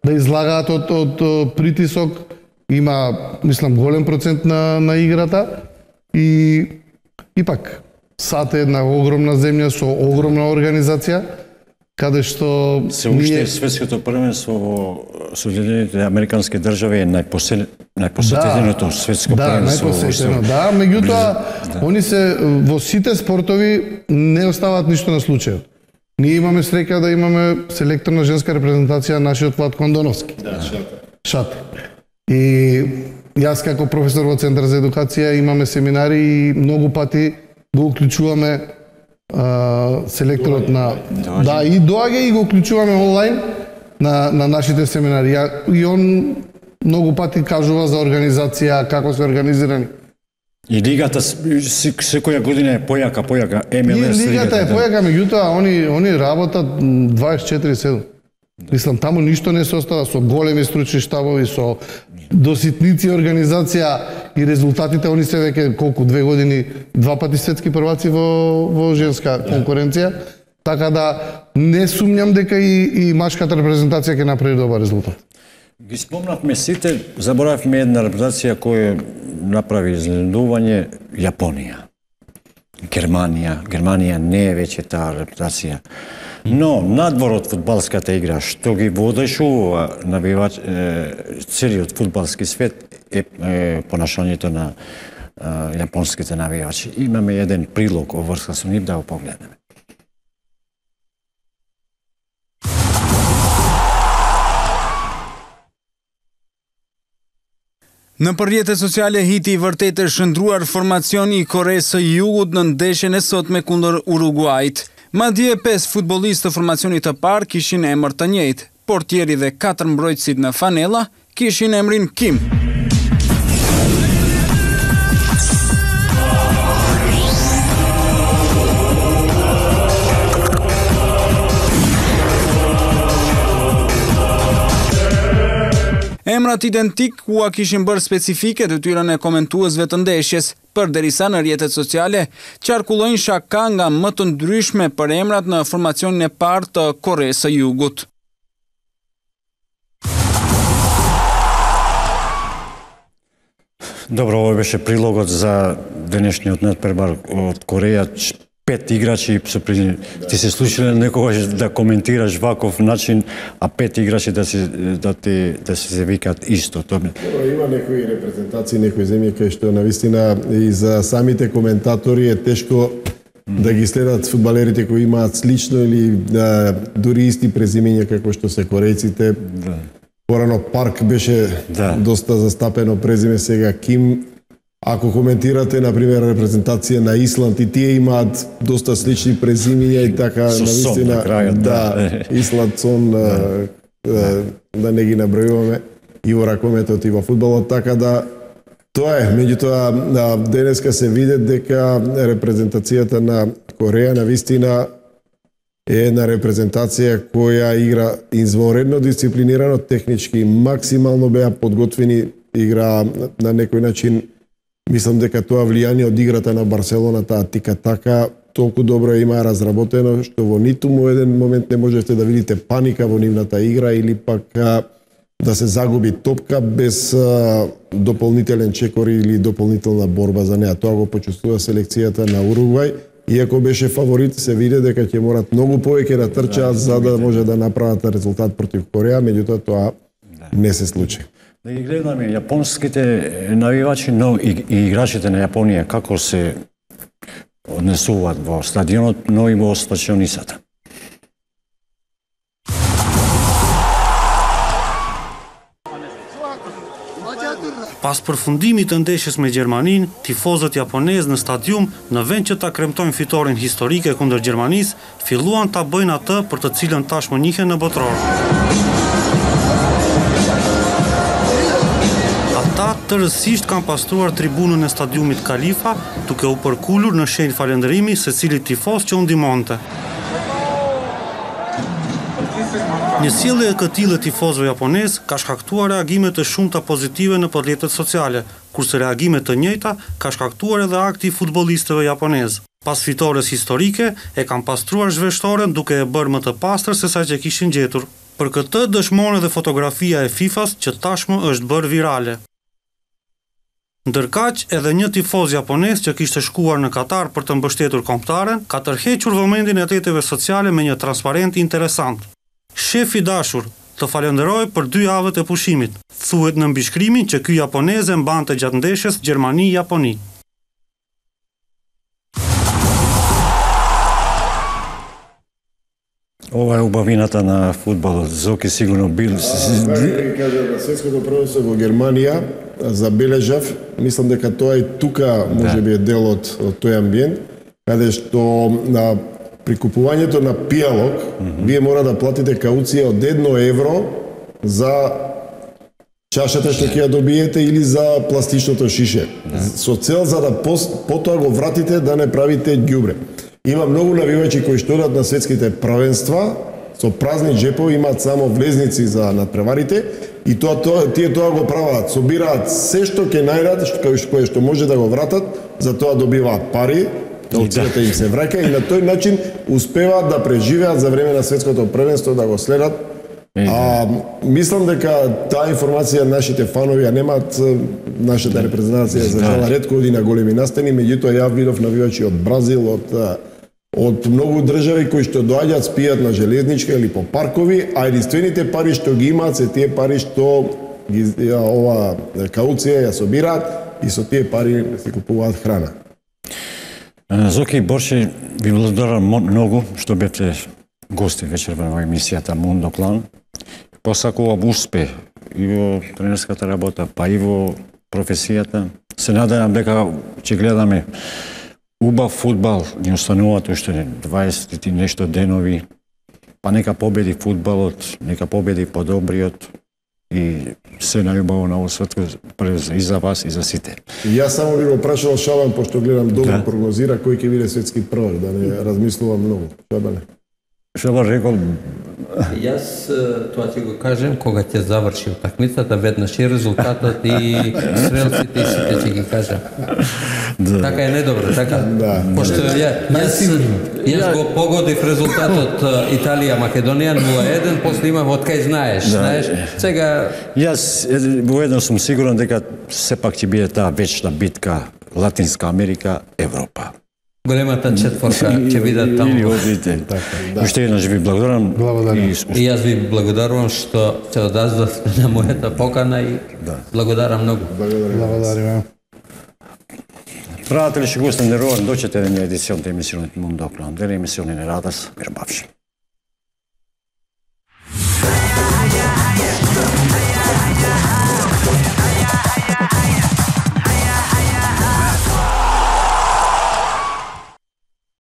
да излагаат од, од, од притисок, има, мислам, голем процент на, на играта и ипак САД е една огромна земја со огромна организација, каде што се уште ние... светското првенство во Соединените Американски држави е најпосел... најпосетеното да, светско да, првенство. Најпосетено, да, меѓутоа да. Они се во сите спортови не оставаат ништо на случајот. Ние имаме среќа да имаме селекторна женска репрезентација нашиот Владко Андоновски. Да, Шате. Шате. И јас како професор во Центар за едукација имаме семинари и многу пати го уклучуваме а, селекторот на доаѓа. Да, и доаѓа и го уклучуваме онлайн на на нашите семинари. И он многу пати кажува за организација, како се организирани. И лигата секоја година е појака, појака. Ем Ел Ес и лигата е појака, меѓутоа они они работат дваесет и четири седум. Мислам, таму ништо не се остава, со големи стручни штабови, со до ситници организација и резултатите, они се веќе колку, две години, два пати светски прваци во, во женска конкуренција, така да не сумњам дека и, и машката репрезентација ќе направи добар резултат. Ги спомнавме сите, заборавме една репрезентација која направи изненадување, Јапонија. Германија. Германија не е веќе таа репрезентација. Но, надвор од фудбалската игра, што ги водешува навивач, е, целиот фудбалски свет е, е понашањето на е, јапонските навивачи. Имаме еден прилог оврска со нив, да го погледнеме. Në përjetet sociale hiti i vërtet e shëndruar formacioni i Koreas së Jugut në ndeshjen e sotme kundër Uruguajt. Madje pesë futbollistë të formacionit të parë kishin emër të njëjtë. Portieri dhe katër mbrojtësit në fanella kishin emrin Kim. Emrat identik ua kishin bërë specifike të tyren e komentuesve të ndeshjes, përderisa në rrjetet sociale qarkullojnë shaka nga më të ndryshme për emrat në formacionin e parë të Koreas së Jugut. Добро, ово беше прилогот за денешниот надпребар од Кореја. Пет играчи, ти се слушале некогаш да коментираш ваков начин, а пет играчи да се да ти да се викаат исто. Тоа има некои репрезентации, некои земји кај што навистина и за самите коментатори е тешко да ги следат фудбалерите кои имаат слично или да, дури исти презимења како што се корејците. Да. Порано Парк беше да. доста застапено презиме, сега Ким. Ако коментирате, например, репрезентација на Исланд, и тие имаат доста слични презимења и така, навистина, да, Исланд, Сон, да. Да, да не ги набројуваме и во ракометот и во фудбалот, така да тоа е. Меѓутоа, денеска се види дека репрезентацијата на Кореја навистина е една репрезентација која игра извонредно дисциплинирано, технички максимално беа подготвени, игра на некој начин. Мислам дека тоа влијание од играта на Барселона, таа тика-така, толку добро има разработено, што во ниту му еден момент не можете да видите паника во нивната игра или пак а, да се загуби топка без а, дополнителен чекор или дополнителна борба за неа. Тоа го почувствува селекцијата на Уругвај. Иако беше фаворит, се види дека ќе морат многу повеќе да трчаат за да може да направат резултат против Кореја, меѓутоа тоа не се случи. Да ги гледаме јапонските навивачи, но и, и играчите на Јапонија како се однесуваат во стадионот, но и во стачионисата. Pas përfundimit të ndeshjes me Gjermaninë, tifozët japonezë në stadium, në vend që ta kremtojnë fitoren historike kundër Gjermanisë, filluan ta bëjnë atë për të cilën tashmë njihen në botror. Ata tërësisht kanë pastruar tribunën e stadiumit Kalifa, duke u përkullur në shenjë falënderimi secilit tifoz që u ndihmonte. Një sjellje e këtillë e tifozëve japonez ka shkaktuar reagime të shumta pozitive në rrjetet sociale, kurse reagime të njëjta ka shkaktuar edhe akti i futbollistëve japonez. Pas fitores historike, e kanë pastruar zhveshtoren duke e bërë më të pastër se sa që kishin gjetur. Për këtë dëshmon edhe fotografia e FIFA-s që tashmë është bërë virale. Ndërkaq, edhe një tifoz japonez që kishte shkuar në Katar për të mbështetur kombëtaren, ka tërhequr vëmendjen e rrjeteve sociale me një transparent interesant. Shef i dashur, të falenderoj për dy javët e pushimit. Thuhet në mbishkrimin që ky japonez e mbante gjatë ndeshjes Gjermani-Japoni. Ова е убавината на фудбалот. Зоки сигурно бил... Да кажа, на светското првенство во Германија забележав, мислам дека тоа и тука може би е дел од, од тој амбиент, каде што на прикупувањето на пијалок, mm -hmm. вие мора да платите кауција од едно евро за чашата што ќе ја добиете или за пластичното шише. Да. Со цел за да потоа го вратите да не правите ѓубре. Има многу навивачи кои што одат на светските првенства со празни джепови, имаат само влезници за надпреварите и тоа, тоа тие тоа го прават, собираат се што ќе најдат, што кое што може да го вратат, за тоа добиваат пари, кауцијата им се враќа и на тој начин успеваат да преживеат за време на светското првенство, да го следат. А, мислам дека таа информација нашите фанови ја немаат. Нашата репрезентација за жала ретко оди на големи настани, меѓутоа ја видов навивачи од Бразил, од од многу држави кои што доаѓаат, спијат на железничка или по паркови, а единствените пари што ги имаат се тие пари што ги, ја, ова кауција ја собираат и со тие пари си купуваат храна. Зоки Борши, ви благодарам многу што бевте гости вечер во емисијата Мундо Клан. Посакувам успех и во тренерската работа, па и во професијата. Се надевам дека ќе гледаме убав фудбал, ни остануваат уште дваесет и нешто денови, па нека победи фудбалот, нека победи подобриот и се најубаво на овој светко и за вас и за сите. И јас само би го прашал Шабан, пошто гледам добро да. Прогнозира кој ќе биде светски првак, да не размислувам многу. Шабане. Шабан рекол... Јас тоа ќе го кажем кога ќе заврши утакмицата, веднаш и резултатот и стрелците и сите ќе ги кажам. Да. Така е недобро, така? Да. Пошто ја, јас, јас го погодив резултатот Италија-Македонија нула еден, после имам од кај знаеш, да. Знаеш. Сега... Јас воедно сум сигурен дека сепак ќе биде таа вечна битка Латинска Америка, Европа. Големата четворка ќе видат таму. Или одите. Уште еднаш ви благодарам. И јас ви благодарувам што се одазвавте на мојата покана и благодарам многу. Благодарам. Pratili și gustul de rol, duce-te în edițion de emisiune Mundo Clan, de emisiune Radas, Mirbavși.